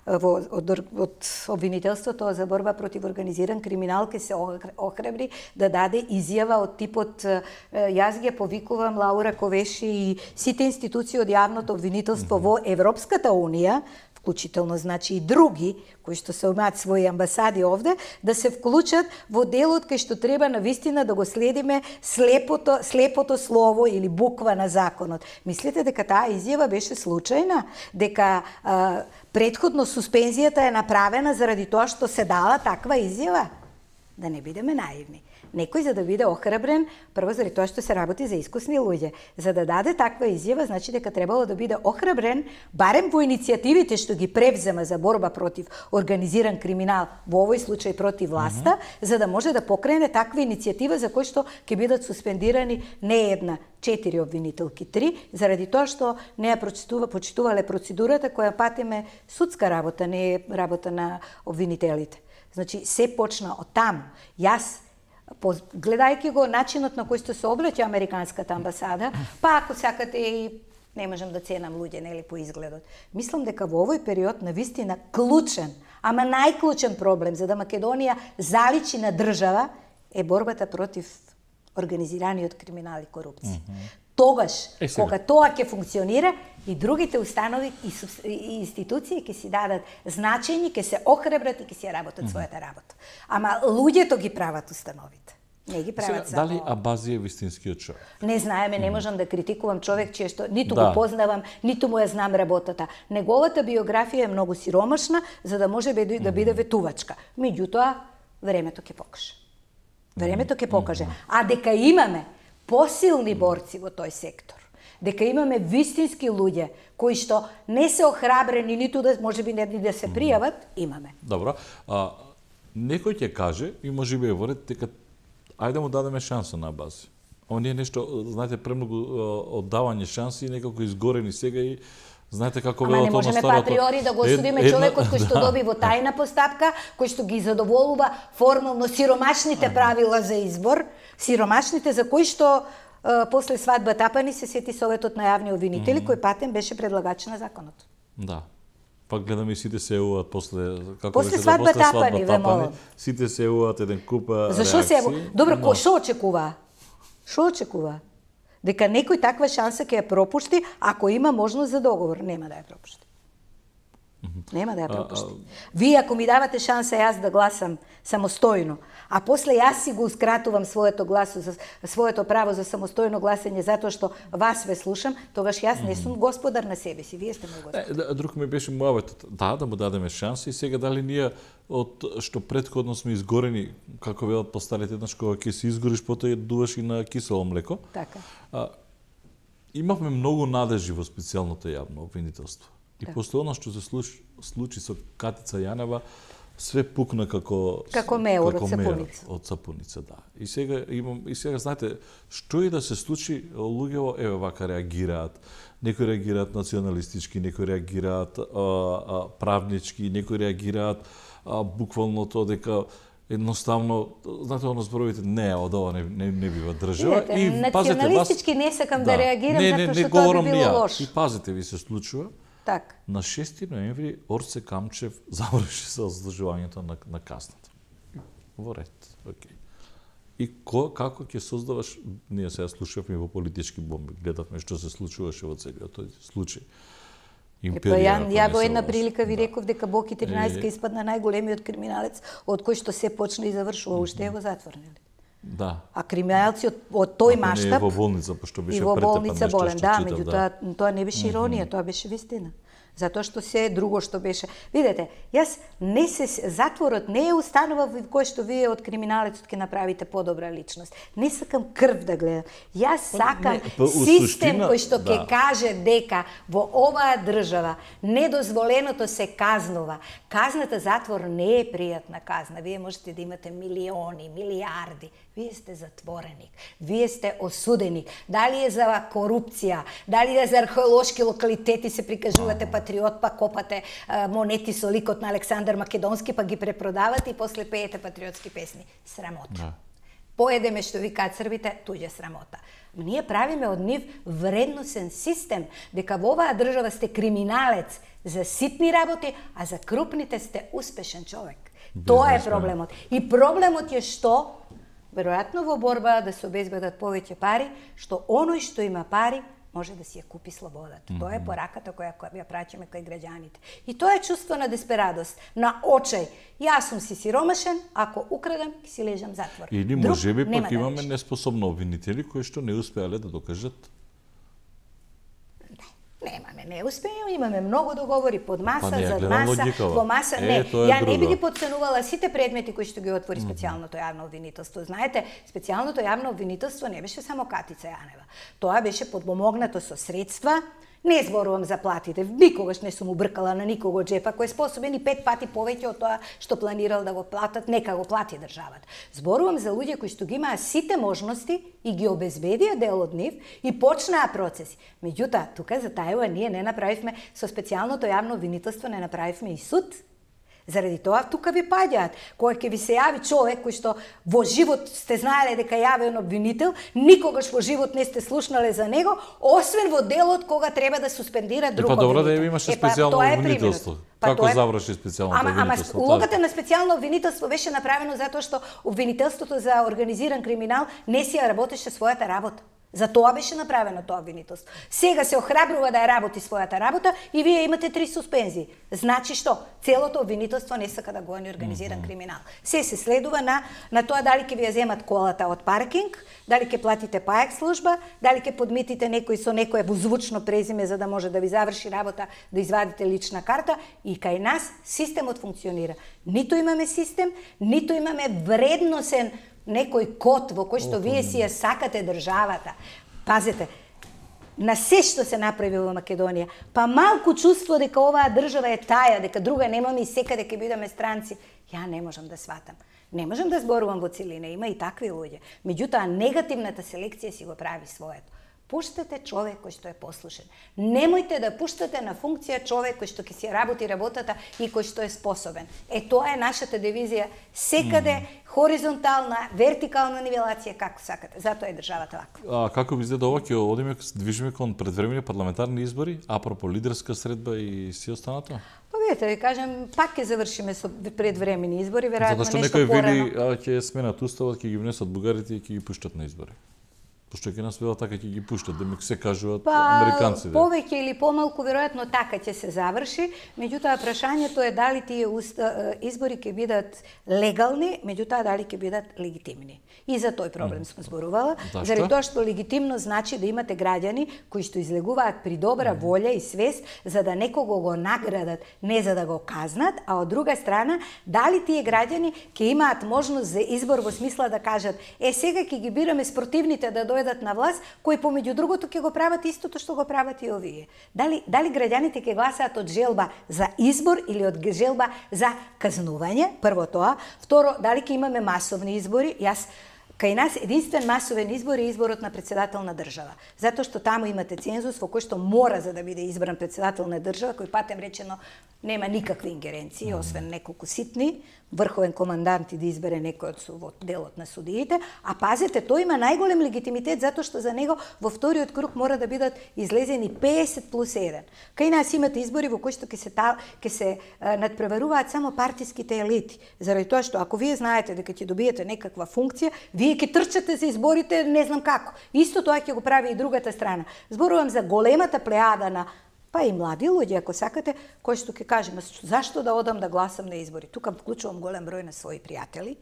во, од, од обвинителството за борба против организиран криминал ке се охрабри да даде изјава од типот е, јас ги повикувам Лаура Ковеши и сите институции од јавното обвинителство во Европската унија, вклучително значи и други кои што се имаат своји амбасади овде, да се вклучат во делот кај што треба навистина да го следиме слепото слепото слово или буква на законот. Мислите дека таа изјава беше случајна, дека а, претходно суспензијата е направена заради тоа што се дала таква изјава? Да не бидеме наивни. Некој за да биде охрабрен, прво заради тоа што се работи за искусни луѓе, за да даде таква изјава, значи дека требало да биде охрабрен, барем во иницијативите што ги превзема за борба против организиран криминал, во овој случај против власта, mm -hmm. за да може да покрене таква иницијатива за кој што ќе бидат суспендирани не една, четири обвинителки, три, заради тоа што не ја прочитува, почитувале процедурата која патиме судска работа, не е работа на обвинителите. Значи, се почна од таму. Јас гледајќи го начинот на кој што се обраќа американската амбасада, па ако сакате и не можам да ценам луѓе, нели, по изгледот. Мислам дека во овој период на вистина клучен, ама најклучен проблем за да Македонија заличи на држава е борбата против организираниот криминал и корупција. Mm -hmm. Тогаш, е, кога тоа ќе функционира, и другите установи и, и институции ќе си дадат значење, ќе се охрабрат и ќе си ја работат mm -hmm. својата работа. Ама луѓето ги прават установите. Не ги прават Сега, само... Дали Абази е вистинскиот човек? Не знаеме, не можам да критикувам човек чие што ниту да. го познавам, ниту му ја знам работата. Неговата биографија е многу сиромашна за да може да биде ветувачка. Меѓутоа, времето ќе покаже. Времето ќе покаже. А дека имаме посилни борци во тој сектор, дека имаме вистински луѓе кои што не се охрабрени ниту да можеби не да се пријават, имаме. Добро. А, некој ќе каже и можеби е ворет дека ајде му дадеме шанса на Абази. Оние нешто, знаете, премногу оддавање шанси и некако изгорени сега и знаете како велат Ама не можеме патриори да го осудиме ед, човекот кој што да. доби во тајна постапка, кој што ги задоволува формално сиромашните правила за избор, сиромашните за кои што е, после свадба Тапани се сети Советот на јавни обвинители, mm -hmm. кој патен беше предлагач на законот. Да. Пак гледаме и сите се еуваат после како после беше свадба, да, после Тапани, свадба Тапани, сите се еуваат еден куп реакции. Зашо се ево? Добро, но... шо очекува? Шо очекува? Дека некој таква шанса ќе ја пропушти ако има можност за договор, нема да ја пропушти. Нема да ја пропушти. Вие ако ми давате шанса јас да гласам самостојно, а после јас си го ускратувам своето гласо за своето право за самостојно гласање затоа што вас ве слушам, тогаш јас не сум господар на себе си, вие сте мој господар. Е, друг ми беше муаветот, да, да му дадеме шанса и сега дали ние од што претходно сме изгорени, како велат постарите, еднаш кога ќе се изгориш, потоа ја дуваш и на кисело млеко. Така. А, имавме многу надежи во специјалното јавно обвинителство. И да. После она што се случи, случи со Катица Јанева, све пукна како како меур од сапуница. Од сапуница, да. И сега имам и сега знаете, што и да се случи, луѓето еве вака реагираат. Некои реагираат националистички, некои реагираат а, а, правнички, некои реагираат а, буквално тоа дека едноставно, знаете, оно зборовите, не, од ова не, не, не бива држава. Видете, и националистички вас, не сакам да, да реагирам, не, затоа не, што тоа би било лошо. И пазите, ви се случува, так. На шести ноември Орце Камчев заврши со ослужувањето на, на касната. Во ред, окей. И ко, како ќе создаваш, ние сега слушавме во политички бомби, гледавме што се случуваше во целиот тој случај. Империја, ја, ја во една прилика ви реков дека Боки тринаесет е... испадна најголемиот криминалец од кој што се почна и завршува уште е во затвор, нели? Да. А криминалци од, од тој Ако маштаб... не е во болница, пошто беше и во претепан болница нешто болен, што да, читав, меѓутоа тоа не беше иронија, mm -hmm. тоа беше вистина. Затоа што се друго што беше. Видете, јас не се затворот не е установа во кој што вие од криминалецот ќе направите подобра личност. Не сакам крв да гледам. Јас сакам не, па, систем суштина, кој што ќе да. каже дека во оваа држава недозволеното се казнува. Казната затвор не е пријатна казна. Вие можете да имате милиони, милиарди. Вие сте затвореник, вие сте осуденик. Дали е за корупција, дали е за археолошки локалитети се прикажувате патриот, па копате а, монети со ликот на Александар Македонски, па ги препродавате и после пеете патриотски песни. Срамота. Да. Поедеме што викаат србите, туѓа срамота. Ние правиме од нив вредносен систем, дека во оваа држава сте криминалец за ситни работи, а за крупните сте успешен човек. Бизнес, тоа е проблемот. И проблемот е што веројатно во борба да се обезбедат повеќе пари, што оној што има пари може да си ја купи слободата. Mm -hmm. Тоа е пораката која ја праќаме кај граѓаните. И тоа е чувство на десперадост, на очај. Јас сум си сиромашен, ако украдам, ќе си лежам затвор. Или можеби пак имаме да неспособни обвинители кои што не успеале да докажат. Немаме неуспеја, имаме многу договори под маса, па не, зад маса, логикава. во маса. Е, не, ја друго. не би ги подценувала сите предмети кои што ги отвори специјалното јавно обвинителство. Знаете, специјалното јавно обвинителство не беше само Катица Јанева. Тоа беше подпомогнато со средства. Не зборувам за платите, никогаш не сум убркала на никого джепа, кој е способен и пет пати повеќе од тоа што планирал да го платат, нека го плати државата. Зборувам за луѓе кои што ги имаа сите можности и ги обезбедија дел од нив и почнаа процеси. Меѓутоа, тука за тајава ние не направивме со специјалното јавно обвинителство, не направивме и суд. Заради тоа тука ви паѓаат. Кога ќе ви се јави човек кој што во живот сте знаеле дека е јавен обвинител, никогаш во живот не сте слушнале за него, освен во делот кога треба да суспендира друг обвинител. Па добро обвинител. да имаше специјално обвинителство. Како е... заврши специјалното ама, обвинителство? Ама улогата на специјално обвинителство беше направено затоа што обвинителството за организиран криминал не си ја работеше својата работа. За тоа беше направено тоа обвинителство. Сега се охрабрува да ја работи својата работа и вие имате три суспензии. Значи што? Целото обвинителство не сака да гони организиран mm -hmm. криминал. Се се следува на на тоа дали ќе ви ја земат колата од паркинг, дали ќе платите паек служба, дали ќе подмитите некој со некое возвучно презиме за да може да ви заврши работа, да извадите лична карта и кај нас системот функционира. Ниту имаме систем, ниту имаме вредносен некој код во кој што вие си ја сакате државата. Пазете, на се што се направи во Македонија, па малку чувство дека оваа држава е таја, дека друга немаме и секаде ќе бидеме странци, ја не можам да сватам. Не можам да зборувам во целина, има и такви луѓе. Меѓутоа, негативната селекција си го прави своето. Пуштете човек кој што е послушен. Немојте да пуштате на функција човек кој што ќе си работи работата и кој што е способен. Е, тоа е нашата дивизија. Секаде mm -hmm. хоризонтална, вертикална нивелација, како сакате. Затоа е државата вака. А како ви изгледа ова, ќе одиме, движиме кон предвремени парламентарни избори, апропо лидерска средба и си останато? Па видите, ви кажем, пак ќе завршиме со предвремени избори, веројатно нешто порано. Затоа што некој вели, ќе сменат уставот, ќе ги внесат бугарите и ќе ги пуштат на избори. Пошто ќе нас велат така ќе ги пуштат, да ми се кажуваат па, американците. Повеќе или помалку веројатно така ќе се заврши, меѓутоа прашањето е дали тие избори ќе бидат легални, меѓутоа дали ќе бидат легитимни. И за тој проблем сме зборувала, заради тоа што легитимно значи да имате граѓани кои што излегуваат при добра волја и свест за да некого го наградат, не за да го казнат, а од друга страна дали тие граѓани ќе имаат можност за избор во смисла да кажат е сега ќе ги бираме спротивните да дојдат на власт, кои помеѓу другото ќе го прават истото што го прават и овие. Дали дали граѓаните ќе гласаат од желба за избор или од желба за казнување? Прво тоа, второ, дали ќе имаме масовни избори? Јас кај нас единствен масовен избор е изборот на председател на држава. Затоа што таму имате цензус во кој што мора за да биде избран председател на држава, кој патем речено нема никакви ингеренции, освен неколку ситни, врховен командант и да избере некој од делот на судиите, а пазете, тој има најголем легитимитет затоа што за него во вториот круг мора да бидат излезени песет плюс еден. Кај нас имате избори во кои што ќе се та, ќе се а, надпреваруваат само партиските елити, заради тоа што ако вие знаете дека ќе добиете некаква функција, вие ќе трчате за изборите не знам како. Исто тоа ќе го прави и другата страна. Зборувам за големата плејада на па и млади луѓе, ако сакате, кои што ќе кажеме, зашто да одам да гласам на избори? Тука вклучувам голем број на своји пријатели,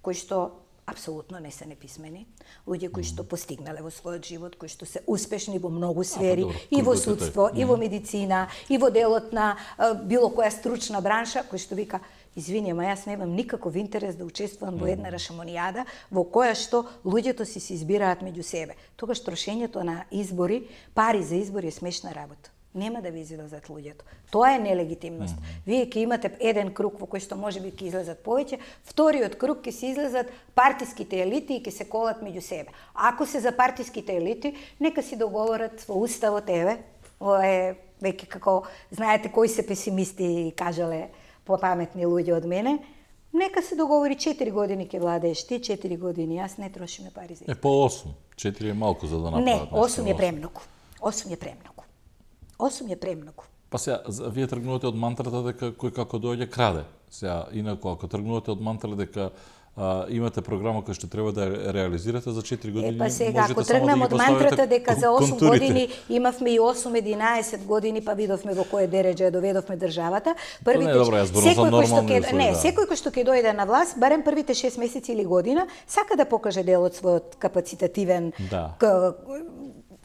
кои што апсолутно не се неписмени, луѓе кои што постигнале во својот живот, кои што се успешни во многу сфери, а, и во судство, и во медицина, и во делот на било која стручна бранша, кој што вика, извини, ама јас немам никаков интерес да учествувам во една рашомонијада во која што луѓето си се избираат меѓу себе. Тогаш трошењето на избори, пари за избори е смешна работа. Нема да ви излезат луѓето. Тоа е нелегитимност. Mm -hmm. Вие ќе имате еден круг во кој што може би ќе излезат повеќе, вториот круг ќе се излезат партиските елити и ќе се колат меѓу себе. Ако се за партиските елити, нека си договорат во уставот, еве, ова е веќе како, знаете кои се песимисти кажале попаметни луѓе од мене, нека се договори четири години ќе владееш ти, четири години јас, не трошиме пари за. Е по осум, четири е малку за да направат. Не, осум е премногу. осум е премногу. осум е премногу. Па сега, вие тргнувате од мантрата дека кој како доаѓа краде. Сега, инаку, ако тргнувате од мантрата дека а, имате програма која што треба да реализирате за четири години, е, па сега, можете ако само тргнам да од мантрата дека за осум контурите. години имавме и осум единаесет години, па видовме во кое дередже доведовме државата, првите не, добро, јас зборувам за нормални ќе услови, не, да. секој кој што ќе дојде на власт, барем првите шест месеци или година, сака да покаже дел од својот капацитативен да.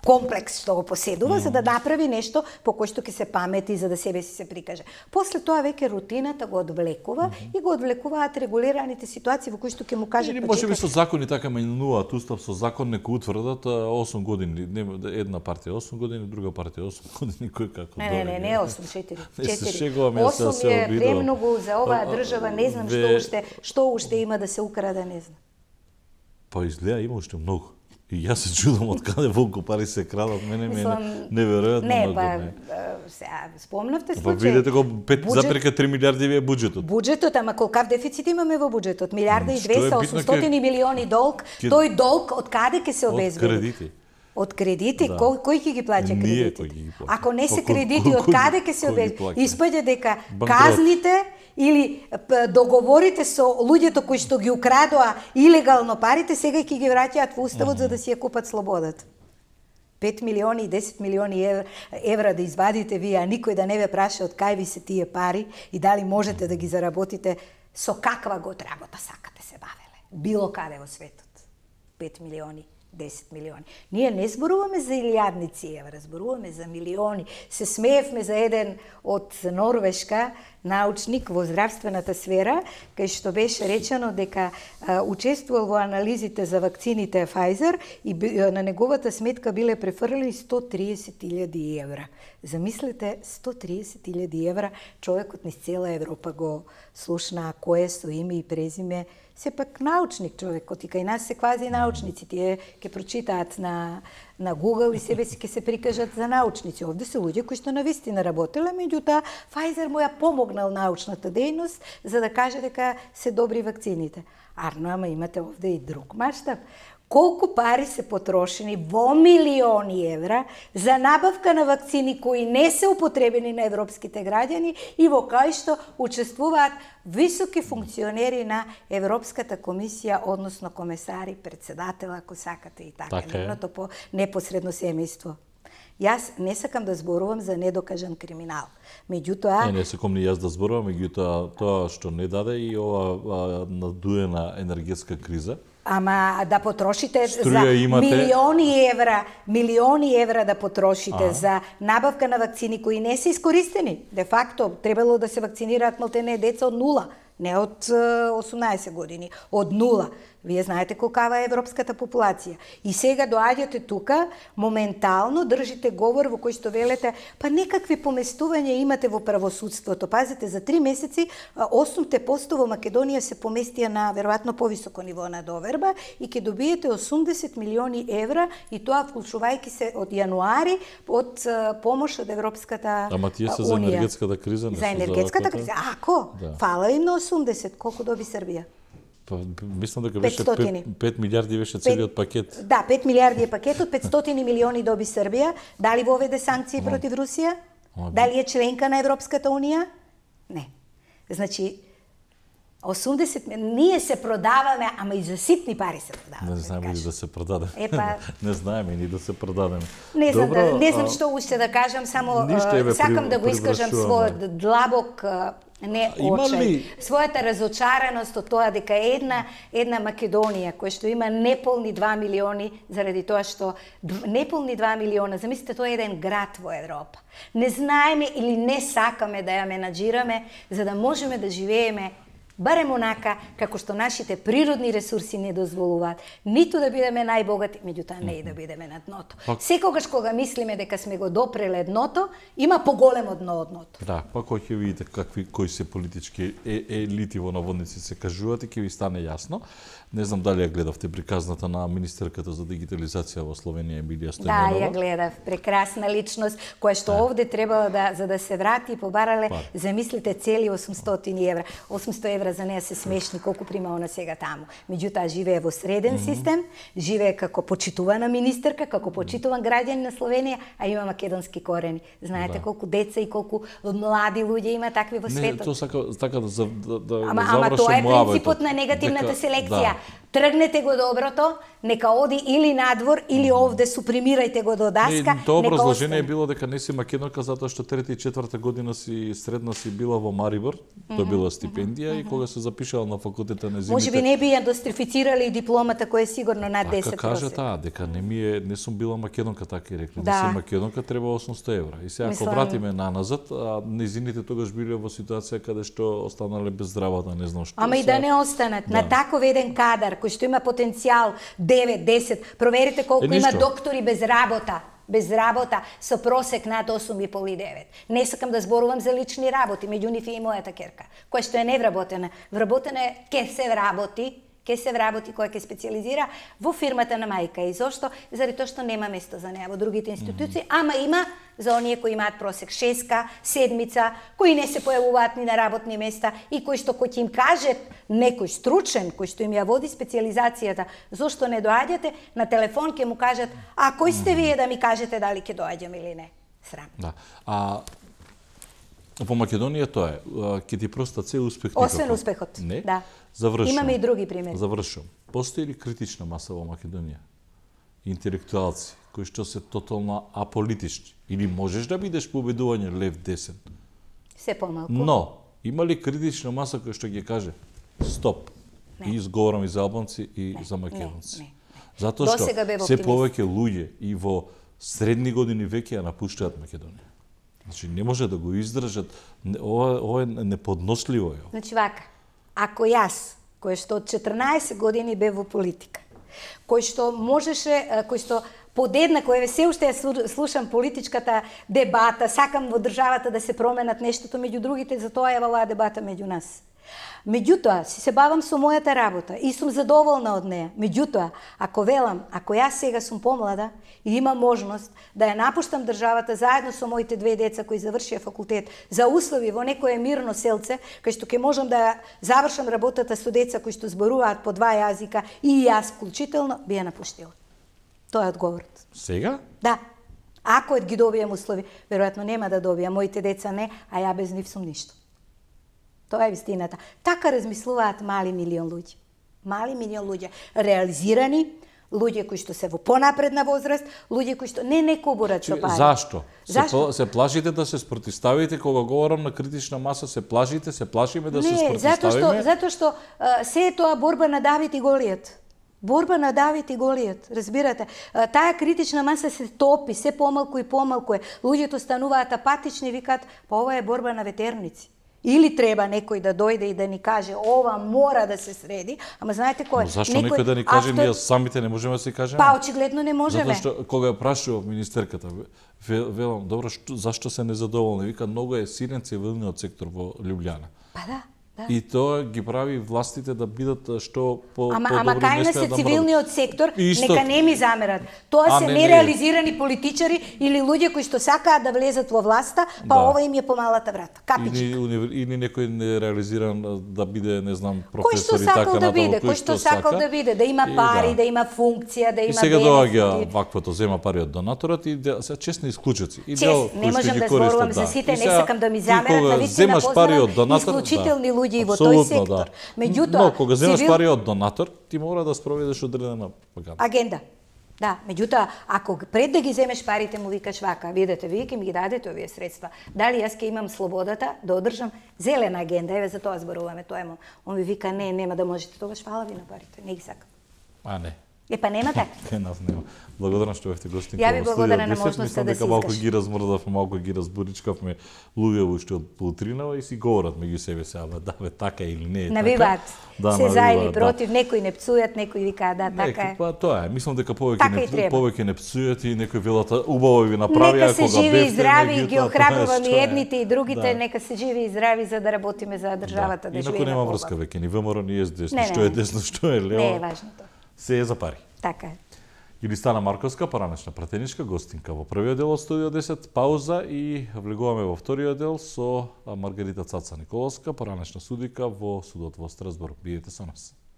комплекс што го поседува, mm. за да направи нешто по кој што ќе се памети, за да себе си се прикаже. После тоа веќе рутината го одвлекува mm -hmm. и го одвлекуваат регулираните ситуации во кои што ќе му кажат или може би со закони така менуваат устав, со закон нека утврдат осум години, една партија осум години, друга партија осум години, кој како Не, не, не, не осум, четири. четири. осум е премногу за оваа држава, не знам што уште, што уште има да се украде, не знам. Па изгледа има уште многу. И јас се чудам од каде волку пари се крадат, мене ми е неверојатно. Не, па сега спомнавте случај. Па видете го пет запирка три милиарди ви е буџетот. Буџетот, ама колкав дефицит имаме во буџетот? Милиарда и двеста, осумстотини милиони долг. Тој долг од каде ќе се обезбеди? Од кредити. Од кредити, да. кој кој ќе ги плаќа кредитите? Ги Ако не се кредити, од каде ќе се обезбеди? Испаѓа дека казните или договорите со луѓето кои што ги украдоа илегално парите, сега ќе ги враќаат во уставот mm -hmm. за да си ја купат слободата. пет милиони и десет милиони евра, евра да извадите вие, а никој да не ве праша од кај ви се тие пари и дали можете да ги заработите, со каква год работа сакате се бавеле. Било каде во светот. пет милиони. десет милиони. Ние не зборуваме за илјадници евра, зборуваме за милиони. Се смеевме за еден од Норвешка научник во здравствената сфера, кај што беше речено дека а, учествувал во анализите за вакцините Pfizer и на неговата сметка биле префрлени сто триесет илјади евра. Замислете, сто триесет илјади евра, човекот низ цела Европа го слушна кој е со име и презиме, сепак научник човекот и кај нас се квази научници, тие ќе прочитаат на на Google и себе си ќе се прикажат за научници. Овде се луѓе кои што навистина работеле, меѓутоа Pfizer му ја помогнал научната дејност за да каже дека се добри вакцините. Арно, ама имате овде и друг маштаб. Колку пари се потрошени во милиони евра за набавка на вакцини кои не се употребени на европските граѓани и во кои што учествуваат високи функционери на Европската комисија, односно комесари, председател, ако сакате и така, така нивното по непосредно семејство. Јас не сакам да зборувам за недокажан криминал. Меѓутоа... Не, не сакам ни јас да зборувам, меѓутоа тоа што не даде и ова надуена енергетска криза. Ама да потрошите Струја за имате... милиони евра, милиони евра да потрошите а. за набавка на вакцини кои не се искористени. Де факто, требало да се вакцинираат малтене деца од нула, не од осумнаесет години, од нула. Вие знаете колкава е европската популација. И сега доаѓате тука, моментално држите говор во кој што велете, па некакви поместувања имате во правосудството. Пазите, за три месеци осумте посто во Македонија се поместија на веројатно повисоко ниво на доверба и ќе добиете осумдесет милиони евра и тоа вклучувајќи се од јануари од помош од Европската Ама тие се за енергетската криза, не за енергетската криза. Ако да. Фала им на осумдесет, колку доби Србија? Па, мислам дека беше пет милиарди беше целиот пакет. Да, пет милиарди е пакетот, петстотини милиони доби Србија. Дали воведе санкции Ама. против Русија? Ама. Дали е членка на Европската унија? Не. Значи, осумдесет ние се продаваме, ама и за ситни пари се продаваме. Не знаеме ли да се продадеме. Епа, не знаеме ни да се продадеме. Не знам, Добро, да, не знам а... што уште да кажам, само Ништо, еве, сакам при, да го искажам својот длабок Не Има очај. ли- Својата разочараност од тоа дека една една Македонија која што има неполни два милиони заради тоа што дв- неполни два милиона, замислите тоа е еден град во Европа. Не знаеме или не сакаме да ја менаџираме за да можеме да живееме барем онака како што нашите природни ресурси не дозволуваат, ниту да бидеме најбогати, меѓутоа не и да бидеме на дното. Пак- Секогаш кога мислиме дека сме го допреле дното, има поголемо дно од дното. Да, па кога ќе видите какви кои се политички е, елити во наводници се кажуваат и ќе ви стане јасно. Не знам дали ја гледавте приказната на министерката за дигитализација во Словенија Емилија Да, Стојменова. ја гледав. Прекрасна личност, која што овде требала да, за да се врати, побарале, Па. замислите, цели осумстотини евра. осумсто евра за неа се смешни, колку прима она сега таму. Меѓутоа, живее во среден систем, живее како почитувана министерка, како почитуван граѓанин на Словенија, а има македонски корени. Знаете Да. колку деца и колку млади луѓе има такви во Не, светот. тоа сака така да за- да, да Ама, да ама завршам тоа е муабетот. принципот на негативната Дека- селекција. да. Тргнете го доброто, нека оди или надвор, или овде супримирајте го до даска, Не, тоа нека образложение е остане. било дека не си македонка затоа што трета и четврта година си средна си била во Марибор, добила стипендија и кога се запишала на факултетот на Може би земите. не би ја дострифицирали и дипломата која е сигурно над Така десет кажа просек. таа, дека не ми е, не сум била македонка, така и рекли. Да. Не си македонка, треба осумсто евра. И сега ако Мислам- вратиме наназад, а незините тогаш биле во ситуација каде што останале без здравата, не знам што. Ама и Сега- да не останат. Да. На таков еден кадар, кој што има потенцијал девет, десет, проверите колку Е, има ништо. доктори без работа, без работа, со просек над осум и пол и девет. Не сакам да зборувам за лични работи, меѓу нив и мојата керка, која што е невработена. Вработена е, ке се вработи, ке се вработи, која ќе специализира во фирмата на мајка. И зошто? Заради тоа што нема место за неа во другите институции, ама има за оние кои имаат просек шеска, седмица, кои не се појавуваат ни на работни места и кои што кој ќе им каже некој стручен, кој што им ја води специализацијата, зошто не доаѓате, на телефон ќе му кажат, а кој сте вие да ми кажете дали ќе доаѓам или не? Срам. Да. А во Македонија тоа е, а, ќе ти простат се успех Освен никако. успехот. Не? Да. Завршувам. Имаме и други примери. Завршувам. Постои ли критична маса во Македонија? Интелектуалци кои што се тотално аполитични или можеш да бидеш по убедување лев десен. Се помалку. Но има ли критична маса која што ќе каже стоп? Не. И изговорам и за албанци и Не, за не, македонци. не, не. Затоа што Досега бев се оптимист. повеќе луѓе и во средни години веќе ја напуштаат Македонија. Значи не може да го издржат. Не- Ова, ова е неподносливо е. Значи вака, ако јас, кој што од четрнаесет години бев во политика, кој што можеше, а, кој што подеднакво, еве се уште ја слу- слушам политичката дебата, сакам во државата да се променат нештото, меѓу другите, за тоа е оваа дебата меѓу нас. Меѓутоа, си се бавам со мојата работа и сум задоволна од неа. Меѓутоа, ако велам, ако јас сега сум помлада и имам можност да ја напуштам државата заедно со моите две деца кои завршија факултет за услови во некое мирно селце, кај што ќе можам да завршам работата со деца кои што зборуваат по два јазика и јас вклучително, би ја напуштила. Тоа е одговорот. Сега? Да. Ако ги добијам услови, веројатно нема да добијам, моите деца не, а ја без нив сум ништо. Тоа е вистината. Така размислуваат мали милион луѓе. Мали милион луѓе. Реализирани, луѓе кои што се во понапредна возраст, луѓе кои што не не кобурат со пари. Зашто? Се, Зашто? пла- се плашите да се спротиставите кога говорам на критична маса, се плашите, се плашиме да се Не, спротиставиме. затоа што затоа што а, се е тоа борба на Давид и Голијат. Борба на Давид и Голијат, разбирате? А, таа критична маса се топи, се помалку и помалку е. Луѓето стануваат апатични и викаат, па ова е борба на ветерници. Или треба некој да дојде и да ни каже ова мора да се среди, ама знаете кој? Но зашто некој да ни каже, ние самите не можеме да си кажеме? Па очигледно не можеме. Затоа што кога ја прашував министерката, ве- велам, добро, што, зашто се незадоволни? Вика, многу е силен цивилниот сектор во Лјубљана. Па да. Да. И тоа ги прави властите да бидат што по Ама, по ама добри кај не не смеат се да цивилниот сектор, Исто. нека не ми замерат. Тоа А, се не, не. нереализирани политичари или луѓе кои што сакаат да влезат во власта, па Да. ова им е помалата врата. Капичка. Или, универ- или некој нереализиран да биде, не знам, Кој професор што и сакал така да натаму, биде, кој што сакал да биде, да има И пари, да. да има функција, да И има сега доаѓа бенефити. ваквото, зема пари од донаторот и де- се честни исклучоци. И Чест, дел не кои што можам ги да користат, зборувам за сите, И не сега, сакам да ми ти замерат, кога навистина земаш пари од познавам донатор, исклучителни да, луѓе и во тој апсолутно, сектор. да. Меѓутоа, Но кога земаш цивил- пари од донатор, ти мора да спроведеш одредена пропаганда. агенда. Да, меѓутоа, ако пред да ги земеш парите му викаш вака, видете, вие ќе ми ги дадете овие средства, дали јас ќе имам слободата да одржам зелена агенда, еве за тоа зборуваме, тоа му. Он ви вика, не, нема да можете, тогаш фала ви на парите, не ги сакам. А не. Е, па нема така. Не, нас нема. Благодарам што бевте гостинка. Ја ви благодарам на можноста да се изкажам. Малку изкажам. ги размрдавме, малку ги разборичкавме луѓе уште од поутринава и си говорат меѓу себе се, ама да бе така или не е така. Навиваат. Да, се за или против, да. Некои не пцујат, некои викаат да, така е. Па тоа е. Мислам дека повеќе така не повеќе не пцујат и некои велат убаво ви направија нека се кога живи и здрави, ги охрабрувам и е. едните и другите, Да. нека се живи и здрави за да работиме за државата, да, да живееме. Инаку нема побава. врска веќе ни ВМРО ни ес-десно, Не, што не. е десно, што е лево. Не е важното. Се е за пари. Така е. Илистана Марковска, поранешна пратеничка гостинка во првиот дел од Студио десет, пауза и влегуваме во вториот дел со Маргарита Цаца Николовска, поранешна судика во судот во Страсбург. Биете со нас.